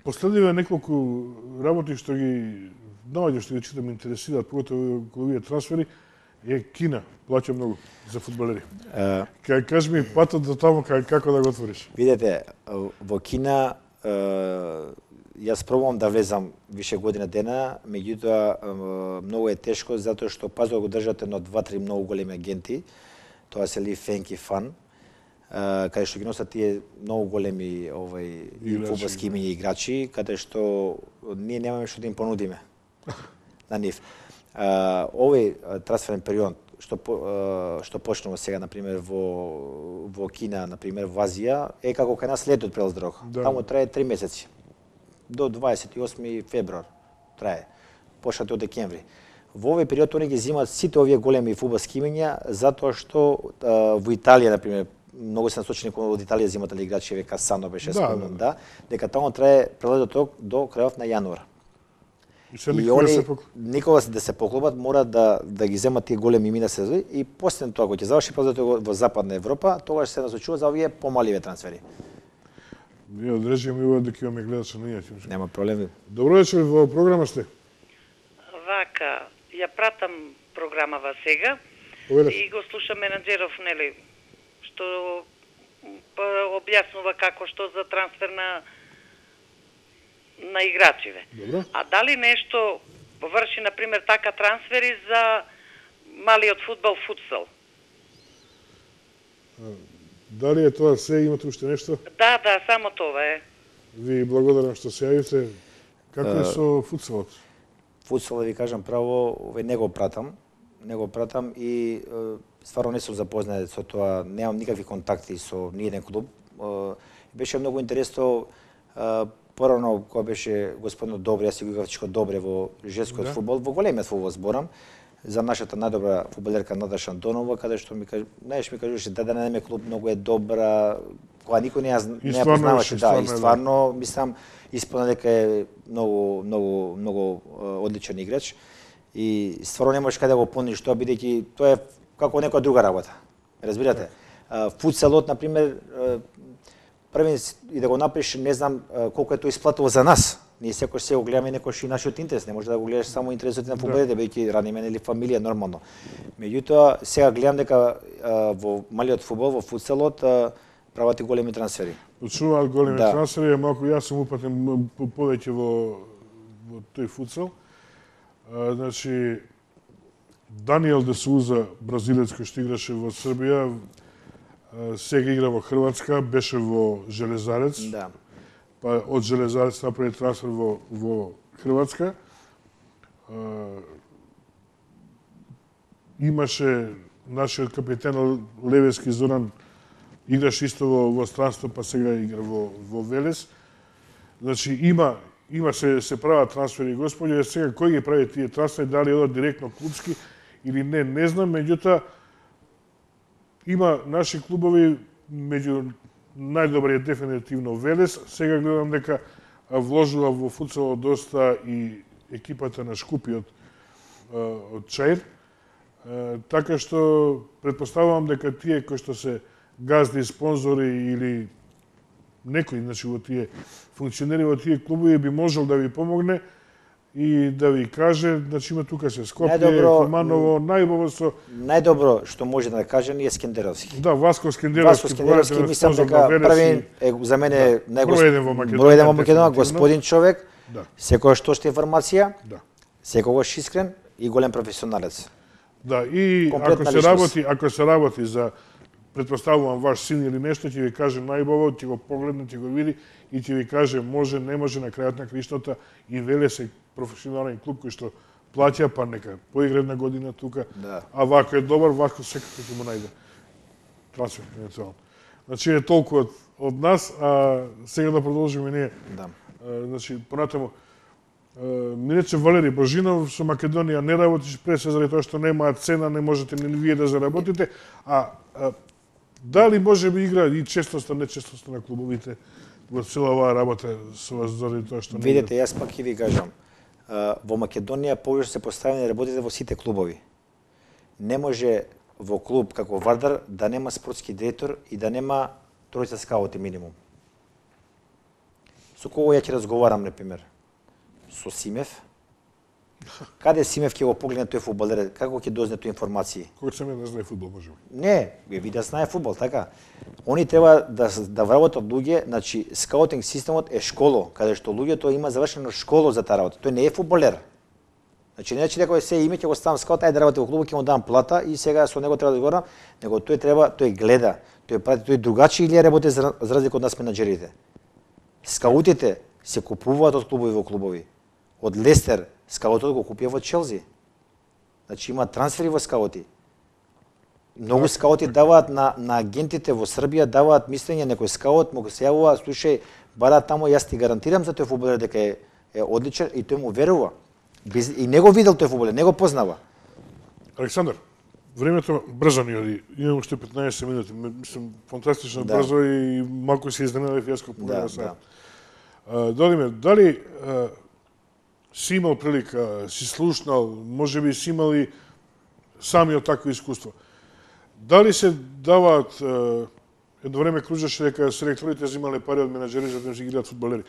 Последниве неколку работи што ги наоѓа што ги читам интересираат, поготово кога овие трансфери, е Кина, плаќа многу за фудбалери. Кажи ми патот до таму како да го отвориш? Видете, во Кина јас пробувам да влезам више година дена, меѓутоа многу е тешко затоа што пазо го држат едно 2-3 многу големи агенти. Тоа се Ли Фенк и Фан, каде што ги носат тие многу големи фудбалски имиња играчи, каде што ние немаме што да им понудиме на нив. Овој трансферен период што почнува сега, например, во Кина, например, во Азија, е како кај нас летот прелаз дорога. Таму трае 3 месеци. До 28 февруар трае. Почнат од декември. Во овој период они ги земат сите овие големи фудбалски имиња, затоа што во Италија, например, многу се насочени од Италија земат играчи, века Сано беше спомнат, дека таму трае прелетот до крајот на јануар. И они никога да се поклопат, мора да ги земат тие големи имена сезони и после тоа кога ќе заврши прелетот во Западна Европа, тогаш се насочува за овие помаливе трансфери. Вие одрежаме и дека имаме гледачи на инаќе. Нема проблеми. Добро вечер, во програма сте. Вака, ја пратам програмава сега и го слушам менаџеров, нели, што објаснува како што за трансфер на играчиве. Добро. А дали нешто врши, например, така трансфери за малиот фудбал, футсал? Дали е тоа се, имате уште нешто? Да, само тоа е. Ви благодарам што се јавите. Како е со футсалот? Футсал, да ви кажам право, не го пратам и стварно не сум запознат со тоа, немам никакви контакти со ниеден клуб. Беше многу интересно, порано кога беше господинот Добре, јас си го играв Добре во женскиот фудбал, во големиот фудбал зборам, за нашата најдобра фудбалерка Наташа Антонова, каде што ми кажуваше да најме клуб многу е добра, кога никој не ја познаваше, и стварно мислам исполна дека е многу одличен играч и стварно не можеш каде да го пониш тоа, бидејќи тоа е како некоја друга работа. Разбирате? Футсалот, например, првен и да го направиш, не знам колку е тоа исплатило за нас. Ние секој се го гледаме некој и нашиот интерес, не може да го гледаш само интересот на фудбалите, бидејќи раниме или фамилија нормално. Меѓутоа, сега гледам дека во малиот фудбал, во футсалот, прават и големи трансфери. Почнуваат големи трансфери, малку јас сум упатен повеќе во тој футсал. Значи, Даниел де Суза, бразилец кој што играше во Србија, сега игра во Хрватска, беше во Железарец. Да. Па од Железарец направи трансфер во Хрватска. Имаше нашиот капитен Левески Зоран, играш исто во странство, па сега игра во Велес. Значи има се прават трансфери, господи, сега кој ги прави тие трансфери, дали одат директно клубски или не знам, меѓутоа има наши клубови, меѓу најдобриот дефинитивно Велес. Сега гледам дека вложува во футсалот доста и екипата на Шкупи од Чаир. Така што претпоставувам дека тие кои што се газди, спонзори или некои, значи во тие функционери во тие клубови би можел да ви помогне и да ви каже, значи има тука се Скопје, Куманово, најдобро што може да каже е Скендеровски. Да, Васко Скендеровски, мислам дека првен е за мене број еден во Македонија, господин човек, секогаш точна информација, секогаш искрен и голем професионалец. Да, и ако се работи за, претпоставувам, ваш син или нешто, ќе ви каже најбово, ќе го погледне, ќе го види и ќе ви каже може, не може, на крајот на криштата и Велес е професионален клуб кој што плаќа, па нека поигра една година тука, а вако е добар, вако секако ќе му најде трансфер евентуално. Значи е толку од нас, а сега да продолжиме ние. Значи понатаму Минече Валери Божинов со Македонија не работиш пред се заради тоа што немаат цена, не можете ни вие да заработите, а дали може би игра и честоста, нечестоста на клубовите во цела оваа работа со вас заради тоа што не... Видете, јас пак ќе ви кажам, во Македонија повеќе се поставени работите во сите клубови. Не може во клуб како Вардар да нема спортски директор и да нема тројца скаути минимум. Со кого ја ќе разговарам, например? Со Симев. Каде Симев ќе го погледне тој фудбалер, како ќе дозне тој информации? Кој Симев не знае фудбал, може би? Не, ви да знае фудбал, така. Они треба да вработат луѓе, значи скаутинг системот е школо, каде што луѓето има завршено школо за таа работа. Тој не е фудбалер. Значи не че некој се име ќе го ставам скаут, ајде да работи во клубот, ќе му дам плата и сега со него треба да говорам, него тој гледа, тој прати, тој другачи или работи за разлика од нас менаџерите. Скаутите се купуваат од клубови во клубови. Од Лестер скаутот го купија во Челси. Значи има трансфери во скаути. Многу скаути даваат на агентите во Србија, даваат мислење, некој скаут му го се јавува, слушај, бара таму, јас ти гарантирам за тој фудбалер дека е одличен и тој му верува. И не го видел тој фудбалер, не го познава. Александар, времето брзо ни оди. Имам уште 15 минути. Мислам, фантастично брзо и малку се изненадев јас кога погледнав саат. Додиме, дали си имал прилика, си слушнал, може би си имал и самиот такво искуство. Дали се даваат едно време кружеше дека селекторите земале пари од менаџери за да си играат фудбалери.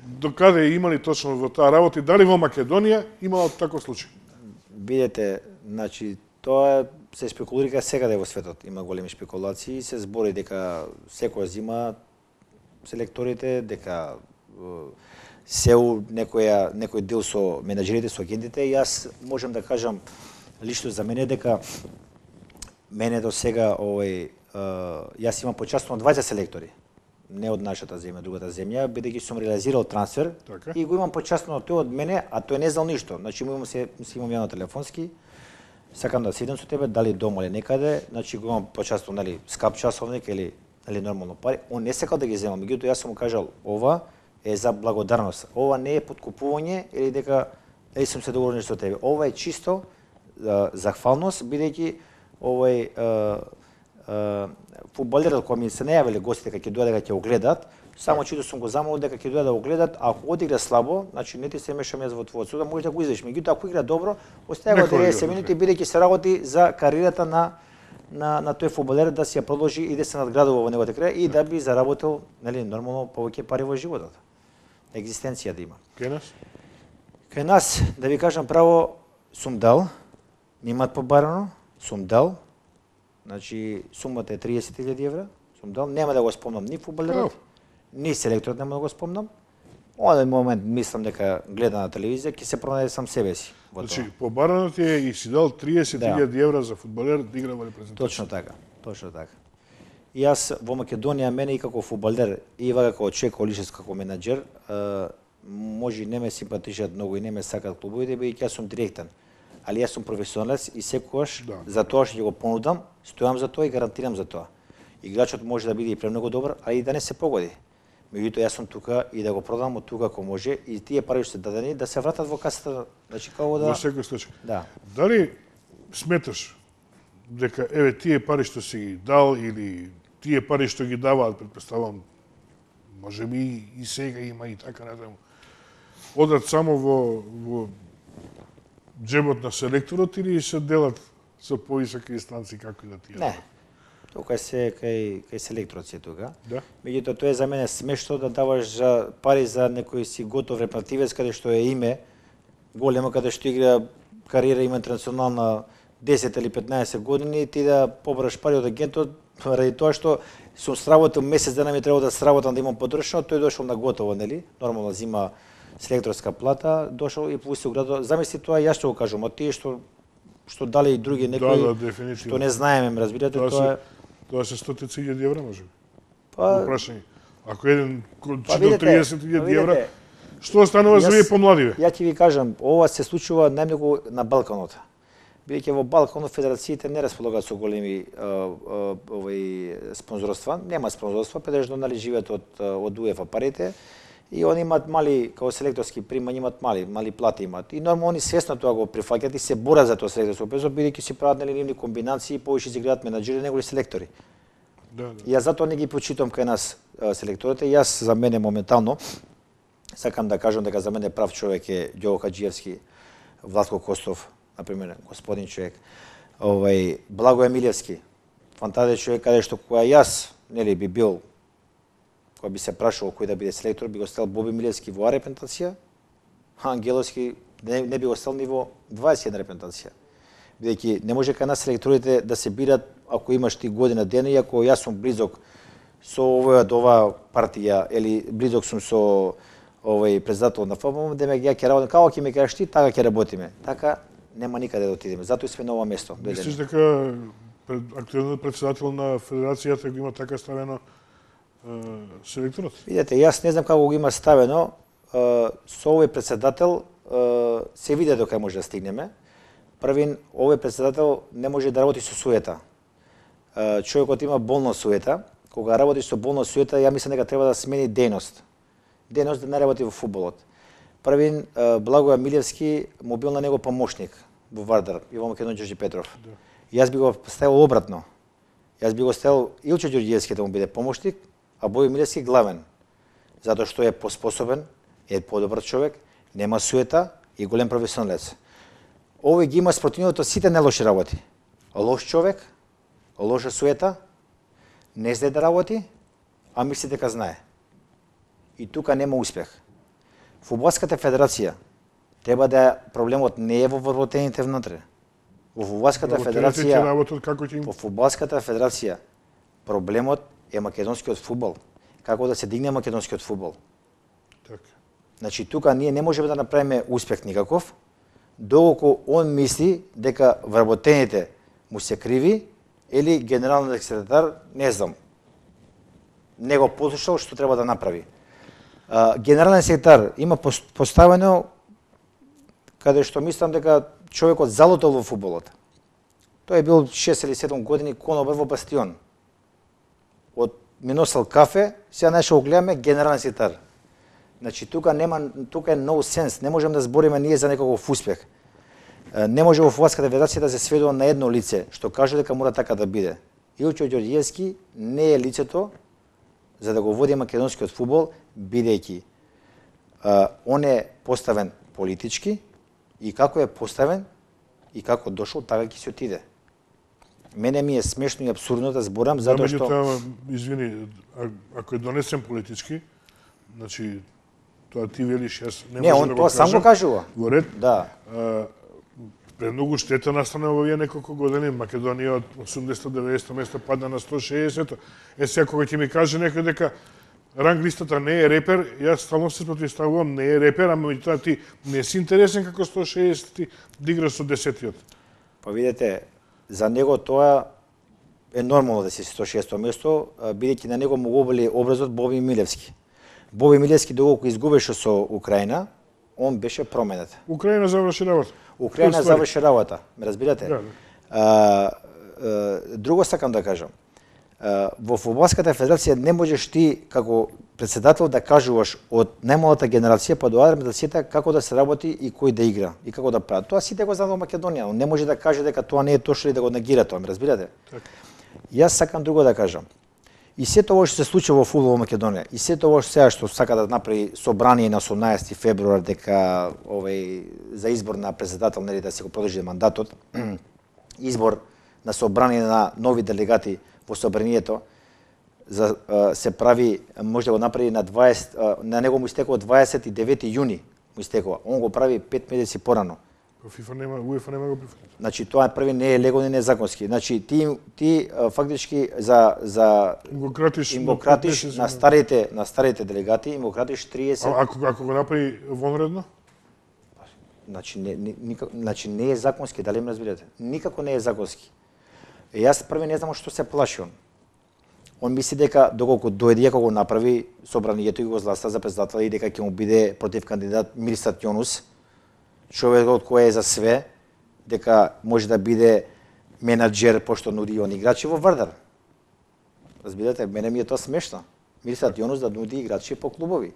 До каде имали точно во таа работа и дали во Македонија имало таков случај? Видете, значи тоа се спекулира секаде во светот. Има големи спекулации и се збори дека секој зима селекторите, дека некој дел со менаџерите, со агентите. И јас можам да кажам лично за мене дека мене до сега јас имам почастено 20 селектори. Не од нашата земја, другата земја, бидејќи сум реализирал трансфер Така. и го имам почастено тој од мене, а тој не знал ништо. Значи имам јавно телефонски, сакам да седам со тебе, дали дома или некаде, значи го имам почастено, нели, скап часовник или нормално пари. Он не сакал да ги земам, меѓутоа јас сум му кажал, ова е за благодарност. Ова не е подкупување или дека сум се договорил со тебе. Ова е чисто захвалност, бидејќи фудбалерот кој ми се најавиле гостите дека ќе дојде дека ќе го гледат, само чито сум го замолил дека ќе дојде да го гледат, ако одигра слабо, значи не ти се мешам јас во твојот суд, може да го извадиш. Меѓутоа ако игра добро, остави го 90 минути бидејќи се работи за кариерата на тој фудбалер да си ја продолжи и да се надградува во неговата кариера и да би заработил, нели, нормално повеќе пари во животот. Екзистенција да има. Кај нас? Кај нас, да ви кажам право, сум дал, ми имаат побарано, сум дал. Значи, сумата е 30.000 евра, сум дал, нема да го спомнам ни фудбалерот, ни селекторот нема да го спомнам. Оден момент мислам дека гледа на телевизија, ќе се пронајде сам себе си во тоа. Значи, побараното е и си дал 30.000 евра за фудбалер да игра во репрезентација. Точно така, точно така. И јас во Македонија, мене и како фудбалер, и како човек, како менаџер, може и не ме симпатичат многу и не ме сакат клубовите, бидејќи јас сум директен. Али јас сум професионалец и секогаш за тоа што ќе го понудам, стојам за тоа и гарантирам за тоа. Играчот може да биде и премногу добар, а и да не се погоди. Меѓутоа јас сум тука и да го продам од тука ако може и тие пари што се дадени да се вратат во касата, значи како да. Во секој случај. Да. Дали сметаш дека еве тие пари што си ги дал или тие пари што ги даваат, претпоставам, можеби и сега има и така натаму, одат само во джебот на селекторот или се делат со повисоки инстанции како и да тие? Не. Тука се кај селекторот се тука. Да. Меѓутоа тоа е за мене смешно да даваш за пари за некој си готов репретивец каде што е име големо, каде што игра кариера има интернационална 10 или 15 години и ти да побраш пари од агентот ради тоа што сум сработил месец дена ми треба да сработам да имам потрошено, тој дошол на готово, нели? Нормално зима селекторска плата, дошол и пусти градо. Замисли тоа, јас што го кажам, а тие што дали и други некои што не знаеме, разбирате, Тоа се 100.000 евра, може би? Па, прашање. Ако еден читал 30.000 евра, што останува за вие помладиве? Ја ќе ви кажам, ова се случува најмногу на Балканот. Бидејќи во Балканот федерациите не располагаат со големи спонзорства, нема спонзорства, претежно нали живеат од УЕФА парите и они имаат мали како селекторски примања, имаат мали плати имаат. И нормално они свесно тоа го прифаќаат и се борат за тоа селекторско песо, бидејќи си прават нели нивни комбинации, повеќе се играат менаџери негови селектори. Да. Јас затоа не ги почитам кај нас селекторите. Јас за мене моментално сакам да кажам дека за мене прав човек е Ѓово Хаџиевски, Владко Костов, например, господин човек. Благоје Милевски, фантазијен човек каде што кога јас нели би бил, кога би се прашувал кој да биде селектор, би го стел Боби Милевски во репрезентација, а Ангеловски не би го стел ни во 21 репрезентација. Бидејќи не може кај нас селекторите да се бират ако имаш ти година дена и ако јас сум близок со оваа партија или близок сум со председател на ФБМ, демек ја ќе работам како ќе ме кажеш ти, така ќе работиме. Така нема никаде да отидеме. Затоа сме на ова место. Мислиш дека актуелниот председател на федерацијата го има така ставено селекторот? Видете, јас не знам како го има ставено. Со овој председател се види до кај може да стигнеме. Првин, овој председател не може да работи со суета. Човекот има болна суета. Кога работи со болна суета, ја мислам дека треба да смени дејност. Дејност да не работи во фудбалот. Првин, Благоје Милевски му бил на него помошник во Вардар и во Македонија Ѓорѓе Петров. Да. Јас би го ставил обратно. Јас би го ставил Илче Ѓорѓиевски да му биде помошник, а Бојо Милевски главен. Затоа што е поспособен, е подобар човек, нема суета и голем професионалец. Овој ги има спротивното сите нелоши работи. Лош човек, лоша суета, не знае да работи, а мисли дека знае. И тука нема успех. Фудбалската федерација треба да проблемот не е во вработените внатре. Во фудбалската федерација, во фудбалската федерација проблемот е македонскиот фудбал. Како да се дигне македонскиот фудбал. Така. Значи тука ние не можеме да направиме успех никаков, доколку он мисли дека вработените му се криви или генералниот секретар, не знам, не го послушал што треба да направи. Генералниот секретар има поставено каде што мислам дека човекот залутал во фудбалот. Тој е бил 6 или 7 години конобар во Бастион. Од ми носел кафе, сега нашо го гледаме генерален секретар. Значи тука е no sense, не можеме да збориме ние за некаков успех. Не може во фудбалската федерација да се сведува на едно лице што каже дека мора така да биде. Илчо Ѓорѓевски не е лицето за да го води македонскиот фудбал, бидејќи он е поставен политички и како е поставен и како дошол, така ќе се отиде. Мене ми е смешно и апсурдно да зборам затоа што извини, ако е донесен политички, значи тоа ти велиш, јас не можам да го кажам. Не, он тоа сам го кажува. Во ред. Да. Премногу штета настана во овие неколку години. Македонија од 80-90 место падна на 160. Сега кога ќе ми каже некој дека ранг листата не е репер, јас стално се противставувам, не е репер, ама меѓутоа ти не си интересен како 160 да играш со 10-тиот. Па видете, за него тоа е нормално да си 160 место, бидејќи на него му го оболи образот Боби Милевски. Боби Милевски доколку изгубеше со Украина, он беше променет. Украина заврши работа. Украина заврши работа, ме разбирате? Да. Друго сакам да кажам. Во фудбалската федерација не можеш ти како претседател да кажуваш од најмалата генерација па до администрацијата како да се работи и кој да игра и како да прави. Тоа сите го знаат во Македонија, он не може да каже дека тоа не е точно и да го негира тоа, ме разбирате? Така. Јас сакам друго да кажам. И сето ова што се случи во фудбал во Македонија, и сето ова сега што сака да направи собрание на 18 февруар дека за избор на претседател, нели да се го продолжи мандатот, избор на собрание на нови делегати во собранието се прави, може да го направи на 20, на него му истекува 29 јуни му истекува. Он го прави 5 месеци порано. УЕФА нема го прифатил. Значи тоа први не е легално и не е законски. Значи ти фактички за им го кратиш на старите делегати, им го кратиш 30. Ако го направи вонредно? Значи не е законски, дали ме разбирате? Никако не е законски. Јас први не знам што се плаши он. Он мисли дека доколку дојде како го направи собранието и го зласта за претседател и дека ќе му биде против кандидат Мирсат Јонус, човекот кој е за све, дека може да биде менаџер пошто нуди он играчи во Вардар. Разбирате, мене ми е тоа смешно. Мирсат Јонус да нуди играчи по клубови,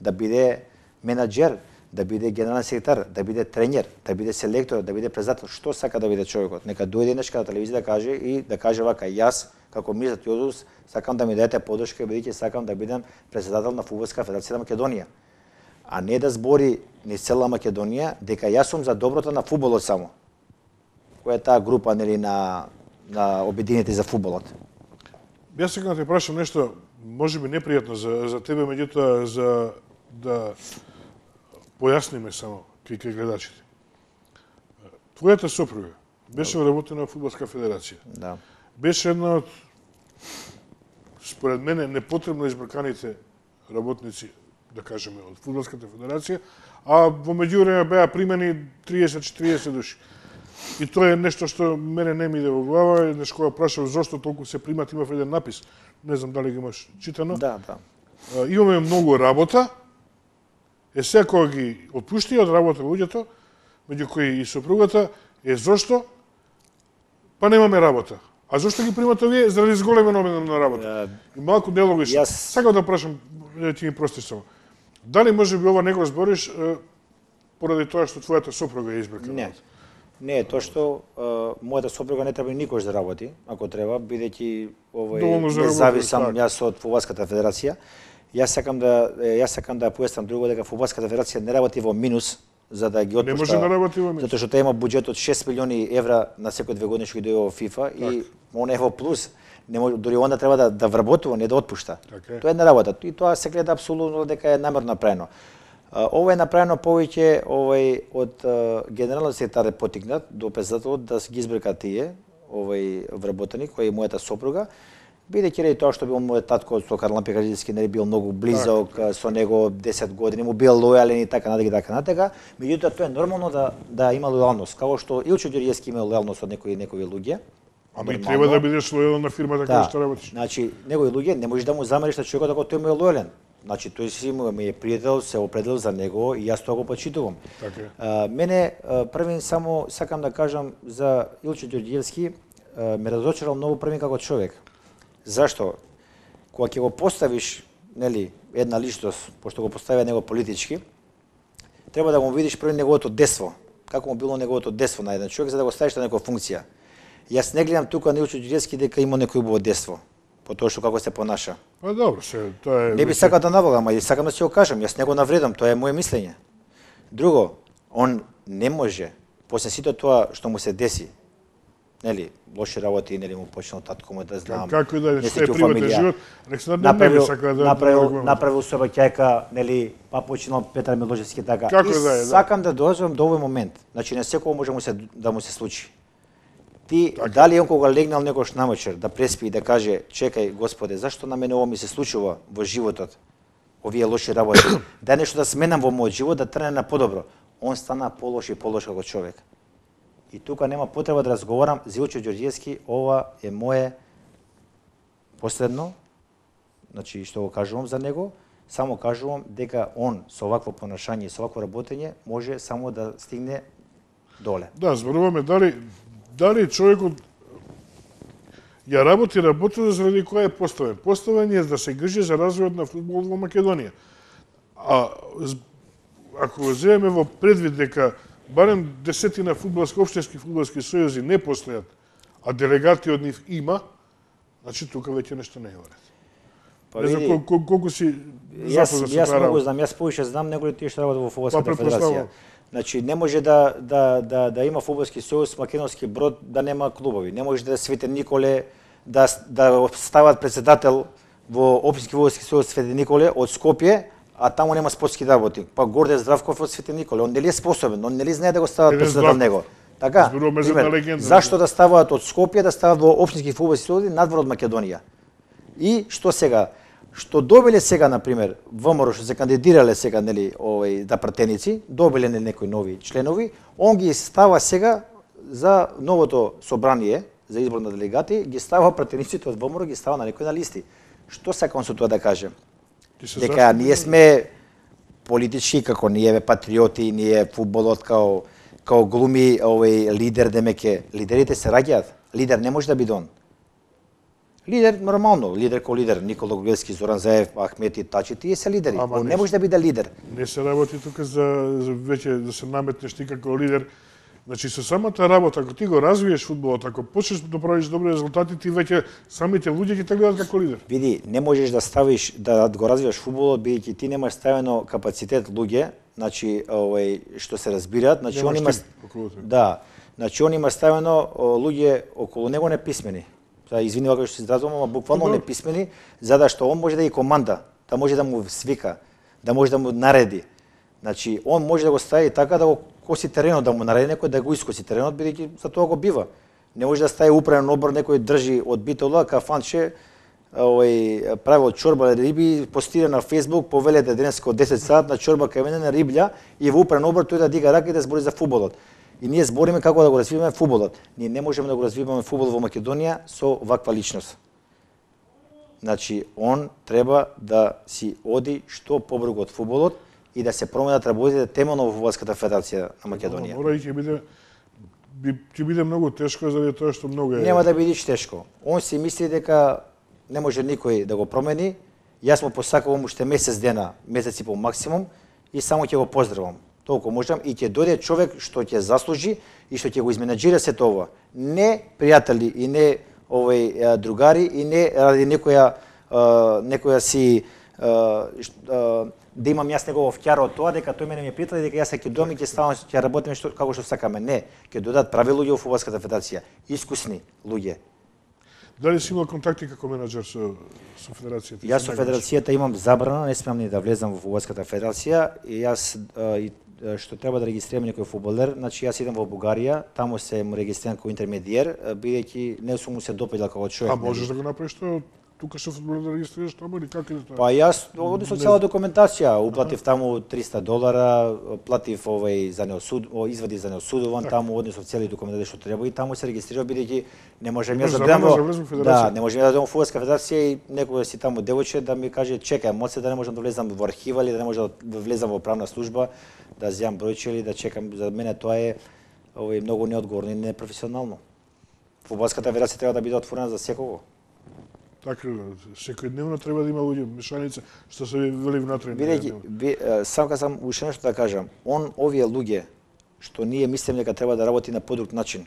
да биде менаџер, да биде генерален секретар, да биде тренер, да биде селектор, да биде претседател, што сака да биде човекот. Нека дојде нешка на телевизија да каже и да каже вака, јас како Мирсат Јонус сакам да ми дадете поддршка бидејќи сакам да бидам претседател на фудбалска федерација на Македонија. А не да збори низ цела Македонија дека јас сум за доброто на фудбалот само. Која е таа група нели на обединети за фудбалот? Јас сакам да те прашам нешто, можеби непријатно за тебе, меѓутоа за да појасниме само кај гледачите. Твојата сопруга беше вработена во фудбалска федерација. Да. Беше една од, според мене, непотребно избрканите работници, да кажеме, од фудбалската федерација, а во меѓувреме беа примени 30-40 души. И тоа е нешто што мене не ми иде во глава, еднаш кога прашав зошто толку се примат, имав еден напис, не знам дали ги имаш читано. Да. Имаме многу работа, сега кога ги отпушти од работа луѓето, меѓу кои и сопругата, зошто? Па немаме работа. А зошто ги примат овие? Заради зголемен обем на работа. И малку нелогично. Сакам да прашам, ти ми простиш само. Дали може би ова не го збориш поради тоа што твојата сопруга е избркана? Не, тоа што мојата сопруга не треба никош да работи, ако треба, бидејќи не зависам јас од фудбалската федерација. Јас сакам да појаснам друго дека фудбалската федерација не работи во минус, за да ги отпушта. Не може да работи во месец. Затоа што тој има буџет од 6 милиони евра на секој 2 години што ги дојде во ФИФА и он е во плюс. Не може, дори онда треба да вработува, не да отпушта. Тоа е една работа. И тоа се гледа апсолутно дека е намерно направено. Ова е направено повеќе од генералниот секретар потикнат до председателот да ги избрка тие вработени кој е мојата сопруга, бидејќи ради тоа што бил мојот татко со Карлан Пекарджиевски не бил многу близок со него 10 години, му бил лојален и така натака. Меѓутоа тоа е нормално да има лојалност, како што Илчо Ѓорѓевски има лојалност од некои луѓе. Ама и треба да бидеш лојален на фирмата која што работиш. Значи, некои луѓе не можеш да му замериш на човекот ако тој му е лојален. Значи, тој си ми е пријател, се определил за него и јас тоа го почитувам. Мене, првин само сакам да кажам за Илчо Ѓорѓевски, ме разочарал многу првин како човек. Зашто? Кога ќе го поставиш, нели, една личност, пошто го поставија него политички, треба да го видиш први неговото дество. Како му било неговото дество на еден човек за да го ставиш на некоја функција. Јас не гледам тука на Илчо Ѓорѓевски дека има некој убаво дество, по тоа што како се понаша. Па добро, тоа е. Не би сакал да навогам, ама сакам да си го кажам, јас не го навредам, тоа е моје мислење. Друго, он не може после сите тоа што му се деси, нели, лоши работи, нели му почнал татко му да знам. Како и да е приватен живот, нека се не сака да направил собаќајка, нели, па почнал Петар Милошевски така. Како и да е, сакам да дојдам до овој момент. Значи не секој може да му се случи. Ти дали он кога легнал некош намечер да преспи и да каже чекај Господе, зашто на мене ова ми се случува во животот? Овие лоши работи. Да нешто да сменам во мојот живот да трне на подобро. Он стана полош и полош како човек. И тука нема потреба да разговарам за Илчо Ѓорѓевски, ова е мое последно, значи што го кажувам за него, само кажувам дека он со овакво понашање и со овакво работење може само да стигне доле. Да, зборуваме дали човекот ја работи заради која е поставен. Поставен е да се грижи за развојот на фудбалот во Македонија. А ако го земеме во предвид дека барем десетина општински фудбалски сојузи не постојат, а делегати од нив има, значи тука веќе нешто не е во ред. Не знам колку си запознат со тоа работа. Јас повеќе знам него тие што работат во фудбалската федерација. Значи не може да има фудбалски сојуз македонски Брод да нема клубови. Не може да Свети Николе да стават председател во општински фудбалски сојуз Свети Николе од Скопје, а таму нема спортски работи. Па Горде Здравков од Свети Николе, он нели е способен, он нели знае да го стават председател него. Така, зашто да ставаат од Скопје, да ставаат во општински фудбалски сојузи надвор од Македонија? И што сега? Што добиле сега, например, ВМРО што се кандидирале сега, нели, да пратеници, добиле некои нови членови, он ги става сега за новото собрание за избор на делегати, ги става пратениците од ВМРО, ги става на некои на листи. Што сакам со тоа да кажем? Дека ние сме политички, како ние патриоти, ние фудбалот као глуми лидер, демеке, лидерите се раѓаат. Лидер не може да биде он. Лидер нормално, лидер ко лидер, Никола Ѓорѓевски, Зоран Заев, Ахмети, Тачи, тие се лидери. Он не може да биде лидер. Не се работи тука за веќе да се наметнеш ти како лидер. Значи со самата работа, ако ти го развиеш фудбалот, ако почнеш да правиш добри резултати, ти веќе самите луѓе ќе те гледат како лидер. Види, не можеш да ставиш да го развиваш фудбалот бидејќи ти немаш ставено капацитет луѓе, значи што се разбираат, значи он има значи он има ставено луѓе околу него неписмени. Извини вака што се изразувам, ама буквално неписмени, за да што он може да ги команда, да може да му свика, да може да му нареди. Значи, он може да го стави така да го коси теренот, да му нареди некој да го искоси теренот, бидејќи за тоа го бива. Не може да стави управен одбор, некој држи од битола, кафанче, прави од чорба риби, постира на Фејсбук, повелете денеска од 10 сат на чорба кај мене на риблја и во управен одбор тој да дига рака и да збори за фудбалот. И ние збориме како да го развиваме фудбалот. Ние не можеме да го развиваме фудбал во Македонија со ваква личност. Значи, он треба да си оди што побрзо од фудбалот и да се променат работите темелно во фудбалската федерација на Македонија. Мора и ќе биде многу тешко заради тоа што многу е. Нема да биде тешко. Он си мисли дека не може никој да го промени. Јас му посакувам уште месец дена, месец и пол максимум и само ќе го поздравам. Толку можам и ќе дојде човек што ќе заслужи и што ќе го изменаџира се тоа. Не пријатели и не другари и не ради некоја си да имам јас негово вќара од тоа дека тој мене ми притали дека јас ќе дојдам и ќе ставам ќе работиме како што сакаме. Не, ќе додадат прави луѓе во фудбалската федерација, искусни луѓе. Дали си имал контакти како менаџер со федерацијата? Јас со федерацијата имам забрана, не смеам ни да влезам во фудбалската федерација и јас што треба да регистрирам некој фудбалер, значи јас идам во Бугарија, таму се му регистрирам како интермедиер, бидејќи не сум му се допаѓал како човек. А можеш да го направиш тоа тука што фудбалер да регистрираш таму или како е тоа? Па јас оди со цела документација, уплатив таму $300, платив за извади за неосудуван, таму однесов цели документи што треба и таму се регистрирав бидејќи не можам јас да дојдам не можам да дојдам во фудбалска федерација и некој си таму девојче да ми каже чекај, моце да не можам да влезам во архива или да не можам да влезам во правна служба, да земам бројче или да чекам. За мене тоа е многу неодговорно и непрофесионално. Фудбалската федерација треба да биде отворена за секого. Така, секојдневно треба да има луѓе, мешаница, што се вели внатре. Бидејќи, сам уште нешто да кажам, овие луѓе, што ние мислиме дека треба да работи на подруг начин,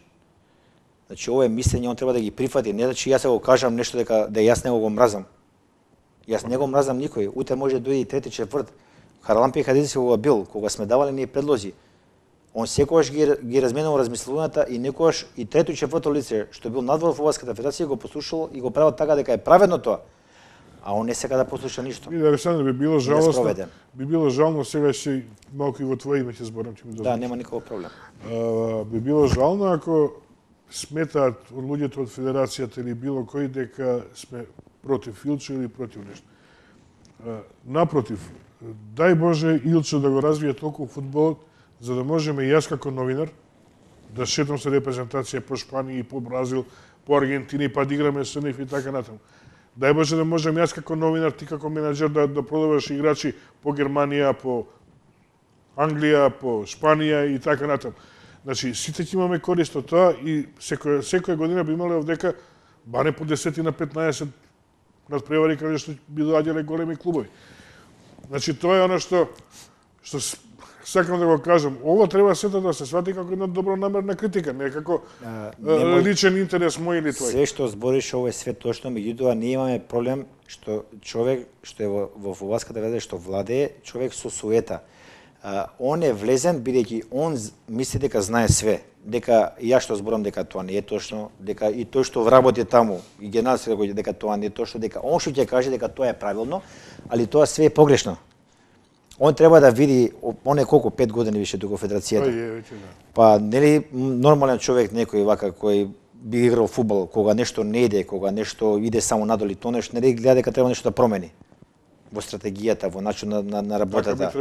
значи, ова е мислење, он треба да ги прифати, не значи јас го кажам нешто дека јас него го мразам. Јас не го мразам никој, утре може да дојде и трети, четврт. Харалампи Хадиди кога бил, кога сме давале ние предлози, он секогаш ги разменувал размислувањата и некогаш и трето и четврто лице што бил надвор во фудбалската федерација го послушал и го правил така дека е праведно тоа. А он не сака да послуша ништо. И Александр, би било жалосно. Би било жално сега си малку и во твое име ќе зборам, ќе ми дозволиш. Да, нема никаков проблем. Би било жално ако сметаат од луѓето од федерацијата или било кој дека сме против Илче или против нешто. Напротив, дај Боже Илче да го развие толку фудбалот, за да можеме и јас како новинар да шетам со репрезентација по Шпанија и по Бразил, по Аргентина, па да играме со нив и така натаму. Дај Боже да можем јас како новинар, ти како менаџер да продаваш играчи по Германија, по Англија, по Шпанија и така натаму. Значи, сите ќе имаме корист од тоа и секоја година би имале овдека барем по 10 на 15 надпревари каде што би доаѓале големи клубови. Значи, тоа е оно што сакам да го кажам. Ова треба сето да се свати како една добронамерна критика, не како личен интерес мој или твој. Све што збориш ово е све точно, меѓутоа ние имаме проблем што човек што е во фудбалската федерација што владее, човек со суета. Он е влезен бидејќи он мисли дека знае све, дека ја што зборам дека тоа не е точно, дека и тој што вработи таму и генералот дека тоа не е точно, дека он што ќе каже дека тоа е правилно, али тоа све е погрешно. Он треба да види, он е колку 5 години више тука во федерацијата. Па нели нормален човек некој вака кој би играл фудбал, кога нешто не иде, кога нешто иде само надоли, тоа нешто нели гледа дека треба нешто да промени во стратегијата, во начинот на работата.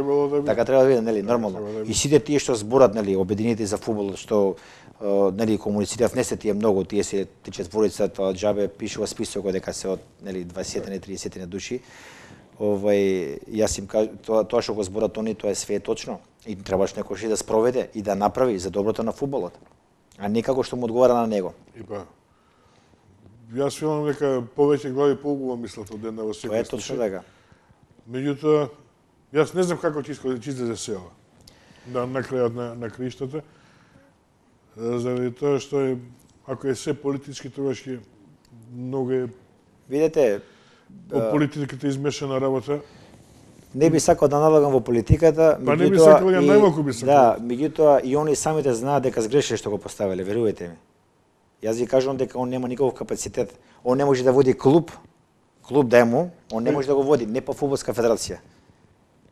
Така треба да биде, нели, нормално. И сите тие што зборат, нели, обединети за фудбал, што нели комуницирав, не се тие многу, тие се четворица, тоа џабе пишува списокот дека се од нели 20-30 души. Јас им кажам, тоа што го зборат они, тоа е све точно. И требаш некој да спроведе и да направи за доброто на фудбалот. А не како што му одговара на него. И па, јас филам дека повеќе глави поубаво мислат од една во секој. Тоа е точно така. Меѓутоа, јас не знам како ќе излезе села на крајот на криштата, заради тоа што ако е се политички, тогаш ќе многу е... Видете, по политиката измешана работа. Не би сакал да налагам во политиката, па не би сакал, ја најмалку би сакал. Да, меѓутоа и они самите знаат дека сгрешиле што го поставиле, верувајте ми. Јас ви кажувам дека он нема никаков капацитет. Он не може да води клуб да е му, он не може да го води, не по фудбалска федерација.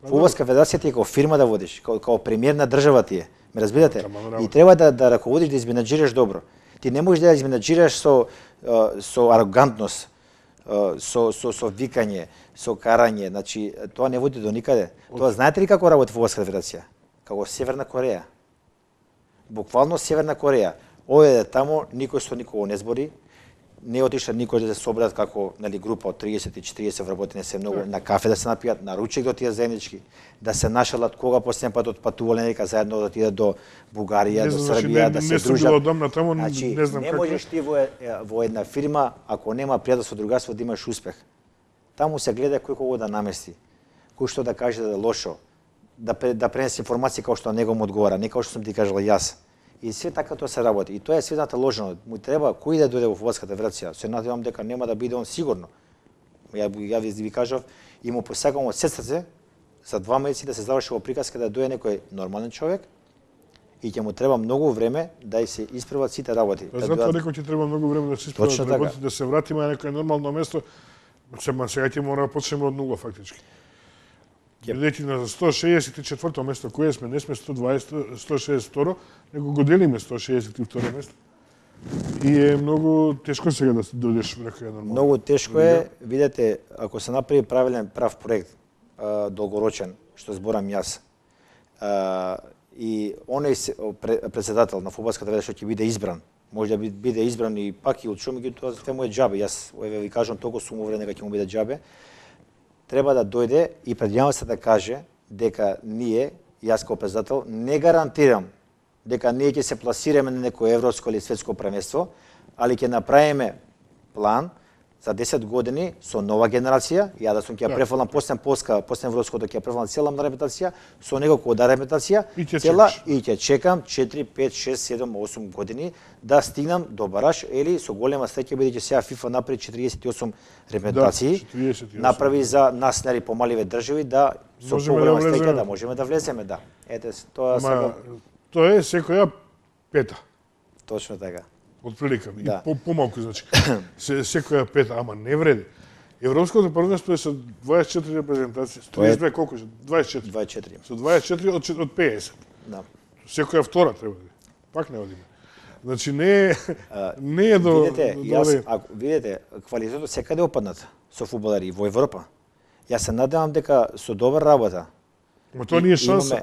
Фудбалска федерација ти е како фирма да водиш, како премиер на држава ти е. Ме разбирате? И треба да раководиш, да изменаџираш добро. Ти не можеш да изменаџираш со арогантност, со викање, со карање, значи тоа не води до никаде. Тоа знаете ли како работи фудбалска федерација? Како Северна Кореја. Буквално Северна Кореја. Оде таму, никој со никого не збори, не отишла никој да се соберат како нели група од 30 и 40 вработени се многу на кафе да се напијат, на ручек да отидат заеднички, да се нашалат кога последен пат отпатувале нека заедно да отидат до Бугарија, до Србија, да се дружат. Не одамна таму, значи, не знам не можеш ти во една фирма ако нема пријателство, другарство да имаш успех. Таму се гледа кој кого да намести, кој што да каже да е лошо, да пренесе информации како што на него му одговара, не како што сум ти кажал јас. И све така тоа се работи. И тоа е све ложено. Му треба кој да дојде во фудбалската федерација. Се надевам дека нема да биде он сигурно. Ја ви кажав и му посакам од срце за 2 месеци да се заврши во приказка да дојде некој нормален човек и ќе му треба многу време да се исправат сите работи. Затоа некој ќе треба многу време да се исправат работите, да се вратиме на некој нормално место. Сега ќе мора да почнеме од нула фактички. Бидејќи на 164-то место кое сме, не сме 162, него го делиме 162 место. И е многу тешко сега да дојдеш во некоја нормална. Многу тешко е, видете, ако се направи прав проект, долгорочен, што зборам јас, и оној председател на фудбалската федерација што ќе биде избран, може да биде избран и пак и од шум, тоа се му е џабе. Јас ви кажам толку сум уверен дека ќе му биде џабе. Треба да дојде и пред јавноста да каже дека ние, јас како председател, не гарантирам дека ние ќе се пласираме на некој европско или светско првенство, али ќе направиме план за 10 години со нова генерација, ја да сум ќе префалам после европското ќе префалам цела репетација, со него кода репетација, цела и ќе чекам 4, 5, 6, 7, 8 години да стигнам до бараж или со голема среќа бидејќи сега FIFA направи 48 репетации, направи за нас нели помаливе држави да со поголема среќа да можеме да влеземе, да. Ете тоа сега тоа е секоја пета. Точно така. Отприлика, и помалку, значи. Секоја пета, ама не вреди. Европското првенство е со 24 репрезентации. 32 колку е? 24. 24. Со 24 од 50. Да. Секоја втора треба да. Пак не одиме. Значи не е до видете, квалитетот секаде опаднат со фудбалери во Европа. Јас се надевам дека со добра работа. Но тоа не е шанса.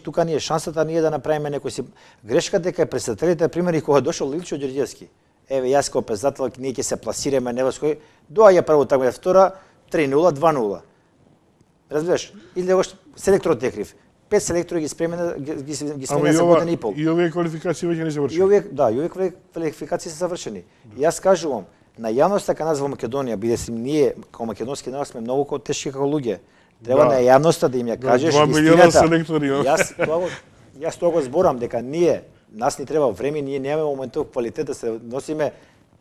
Тука не е шансата ние да направиме некој си грешка дека е председателите, примери кога дошол Ливчо Ѓорѓевски. Еве јас како председател ние ќе се пласираме невоској, доаѓа прво таква втора 3-0, 2-0. Разбираш? Или още селекторот е крив. 5 селектори ги спремена за година и пол. И овие квалификации веќе не завршени. И овие квалификации се завршени. Јас кажувам, на јавноста кај нас во Македонија, бидејќи ние како македонски народ сме многу тешки како луѓе. Треба на јавноста да им ја кажеш истината. Јас тоа го зборам дека нас ни треба време, ние немаме моментов квалитет да се носиме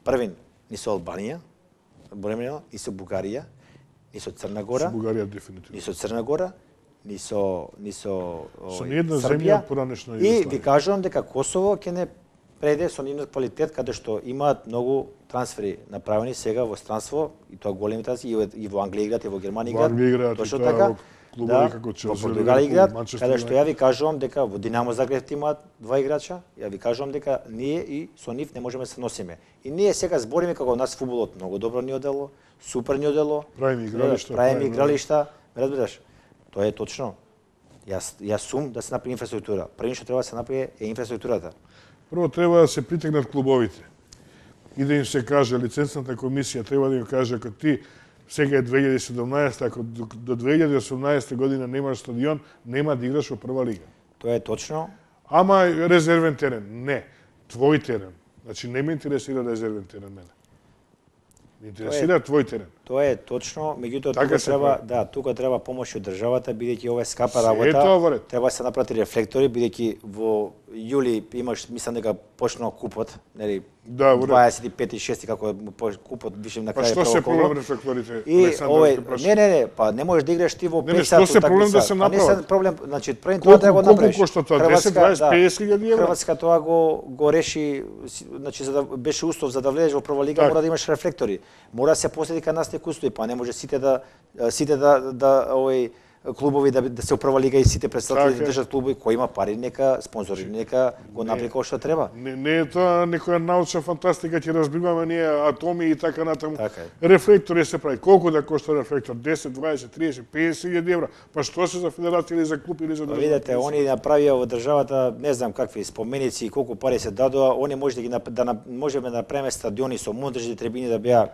првин ни со Албанија, ни со Бугарија, ни со Црна Гора. Со Бугарија дефинитивно. Ни со Црна Гора, ни со ниедна земја поранешно и ви кажувам дека Косово ќе не преде со нивниот квалитет каде што имаат многу трансфери направени сега во странство и тоа големи трансфери и во Англија играат и во Германија играат. Точно така. Клубови како Челси, во Португалија играат, каде што ја ви кажувам дека во Динамо Загреб имаат 2 играча, ја ви кажувам дека ние и со нив не можеме да се носиме. И ние сега збориме како нас фудбалот многу добро ни одело, супер ни одело. Правиме игралишта, разбираш? Тоа е точно. Јас сум да се направи инфраструктура. Прво што треба да се направи е инфраструктурата. Прво треба да се притегнат клубовите и да им се каже, лицензната комисија треба да им каже, ако ти сега е 2017, ако до 2018 година немаш стадион, нема да играш во прва лига. Тоа е точно. Ама резервен терен, не. Твој терен. Значи не ме интересира резервен терен мене. Ме интересира твој терен. Тоа е точно, меѓутоа тука треба помош од државата, бидејќи ова е скапа работа. Треба да се направи рефлектори, бидејќи во јули имаш, мислам дека почнал купот, нели? 25-6 како купот више на крај. Па што се проблем рефлекторите? Не, па не можеш да играш ти во 5 сати. Што се проблем да се направи? Не се проблем, значи пред тоа треба да направиш. Колку кошта тоа? 10, 20, 50.000 евра? Хрватска тоа го реши, значи за да беше услов за да влезеш во прва лига, мора да имаш рефлектори. Мора да се последи кај нас некој устои, па не може сите да клубови да се управа лига и сите представители да држат клубови кои има пари, нека спонзори, нека го направи како што треба. Не е тоа некоја научна фантастика, ќе разбиваме ние атоми и така натаму. Рефлектори се прави. Колку да кошта рефлектор? 10, 20, 30, 50.000 евра. Па што се за федерација или за клуб или за држава? Видете, они направија во државата, не знам какви споменици и колку пари се дадоа, они можеме да направиме стадиони со монтажни трибини да беа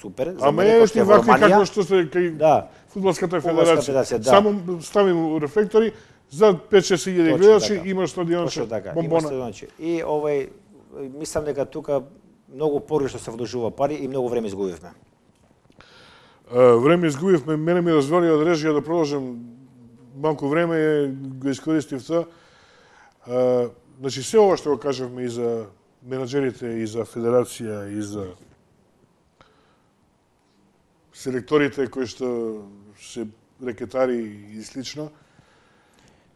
супер. Ама е ти вакви како што се кај Фудбалската федерација. Само ставим рефлектори за 5-6 илјади гледачи, има стадионче, бомбона. И мислам дека тука многу погрешно се вложува пари и многу време изгубивме. Време изгубивме, мене ми развали од режија да продолжам малку време, го искористив тоа. Значи, се ова што го кажавме и за менаџерите, и за федерација, и за селекторите кои што се рекетари и слично.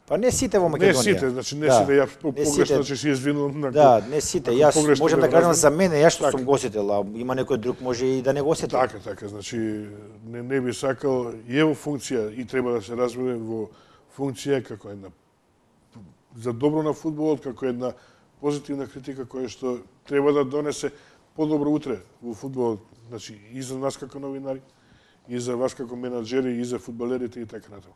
Па не сите во Македонија. Не сите, значи не сите, ја погрешно значи си извинувам. Да, не сите. Јас можам да кажам за мене, јас што сум го осетил, а има некој друг може и да не го осети. Така, значи не би сакал и во функција и треба да се разбере во функција како една за добро на фудбалот, како една позитивна критика која што треба да донесе подобро утре во фудбалот, значи и за нас како новинари, и за вас како менаџери, и за фудбалерите и така натаму.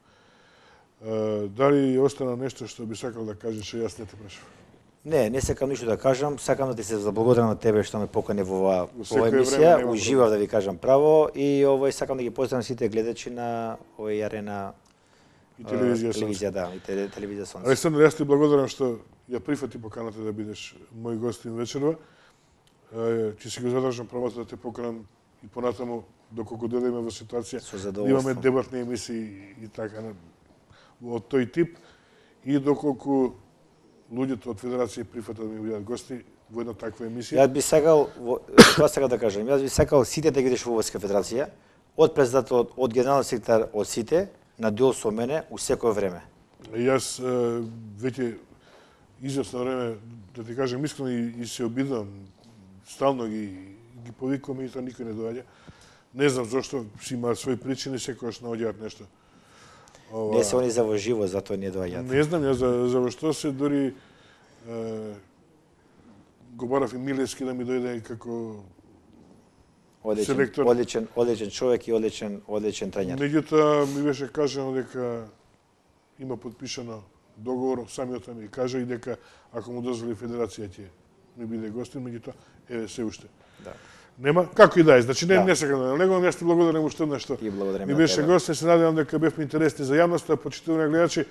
Дали остана нешто што би сакал да кажеш, што јас не те прашав? Не сакам ништо да кажам, сакам да ти се заблагодарам на тебе што ме покани во оваа емисија, уживав да ви кажам право и сакам да ги поздравам сите гледачи на овој Арена и телевизија да, и телевизија Сонце. Александр, јас ти благодарам што ја прифати поканата да бидеш мој гостин вечерва. Ќе си го задржам правото да те поканам и понатаму доколку дојдеме во ситуација да имаме дебатни емисии и така од тој тип и доколку луѓето од Федерација прифатат да ми бидат гости во една таква емисија. Јас би сакал, тоа сакам да кажам, јас би сакал сите да ги видиш во Војска Федерација, од председател, од генерален секретар, од сите, на дуел со мене у секое време. Јас веќе известно време, да ти кажам искрено и се обидувам, стално ги повикувам и тоа никој не доаѓа. Не знам зошто, си има своји причини, секогаш наоѓаат нешто. Не се они за во живо, затоа не доаѓаат. Не знам ја за што се, дури го барав и Милевски да ми дојде како селектор. Одличен човек и одличен тренер. Меѓутоа ми беше кажано дека има подпишано договор, самиот ми кажа и дека ако му дозволи Федерација ќе ми биде гостин, меѓутоа еве се уште. Да. Нема како и да е, значи не сакам да него, јас ти благодарам уште еднаш што ми беше гостин, се надевам дека бевме интересни за јавноста, почитувани гледачи.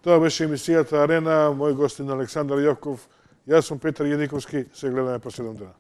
Тоа беше емисијата Арена, мој гостин Александар Јовков, јас сум Петар Јениковски, се гледаме по 7 дена.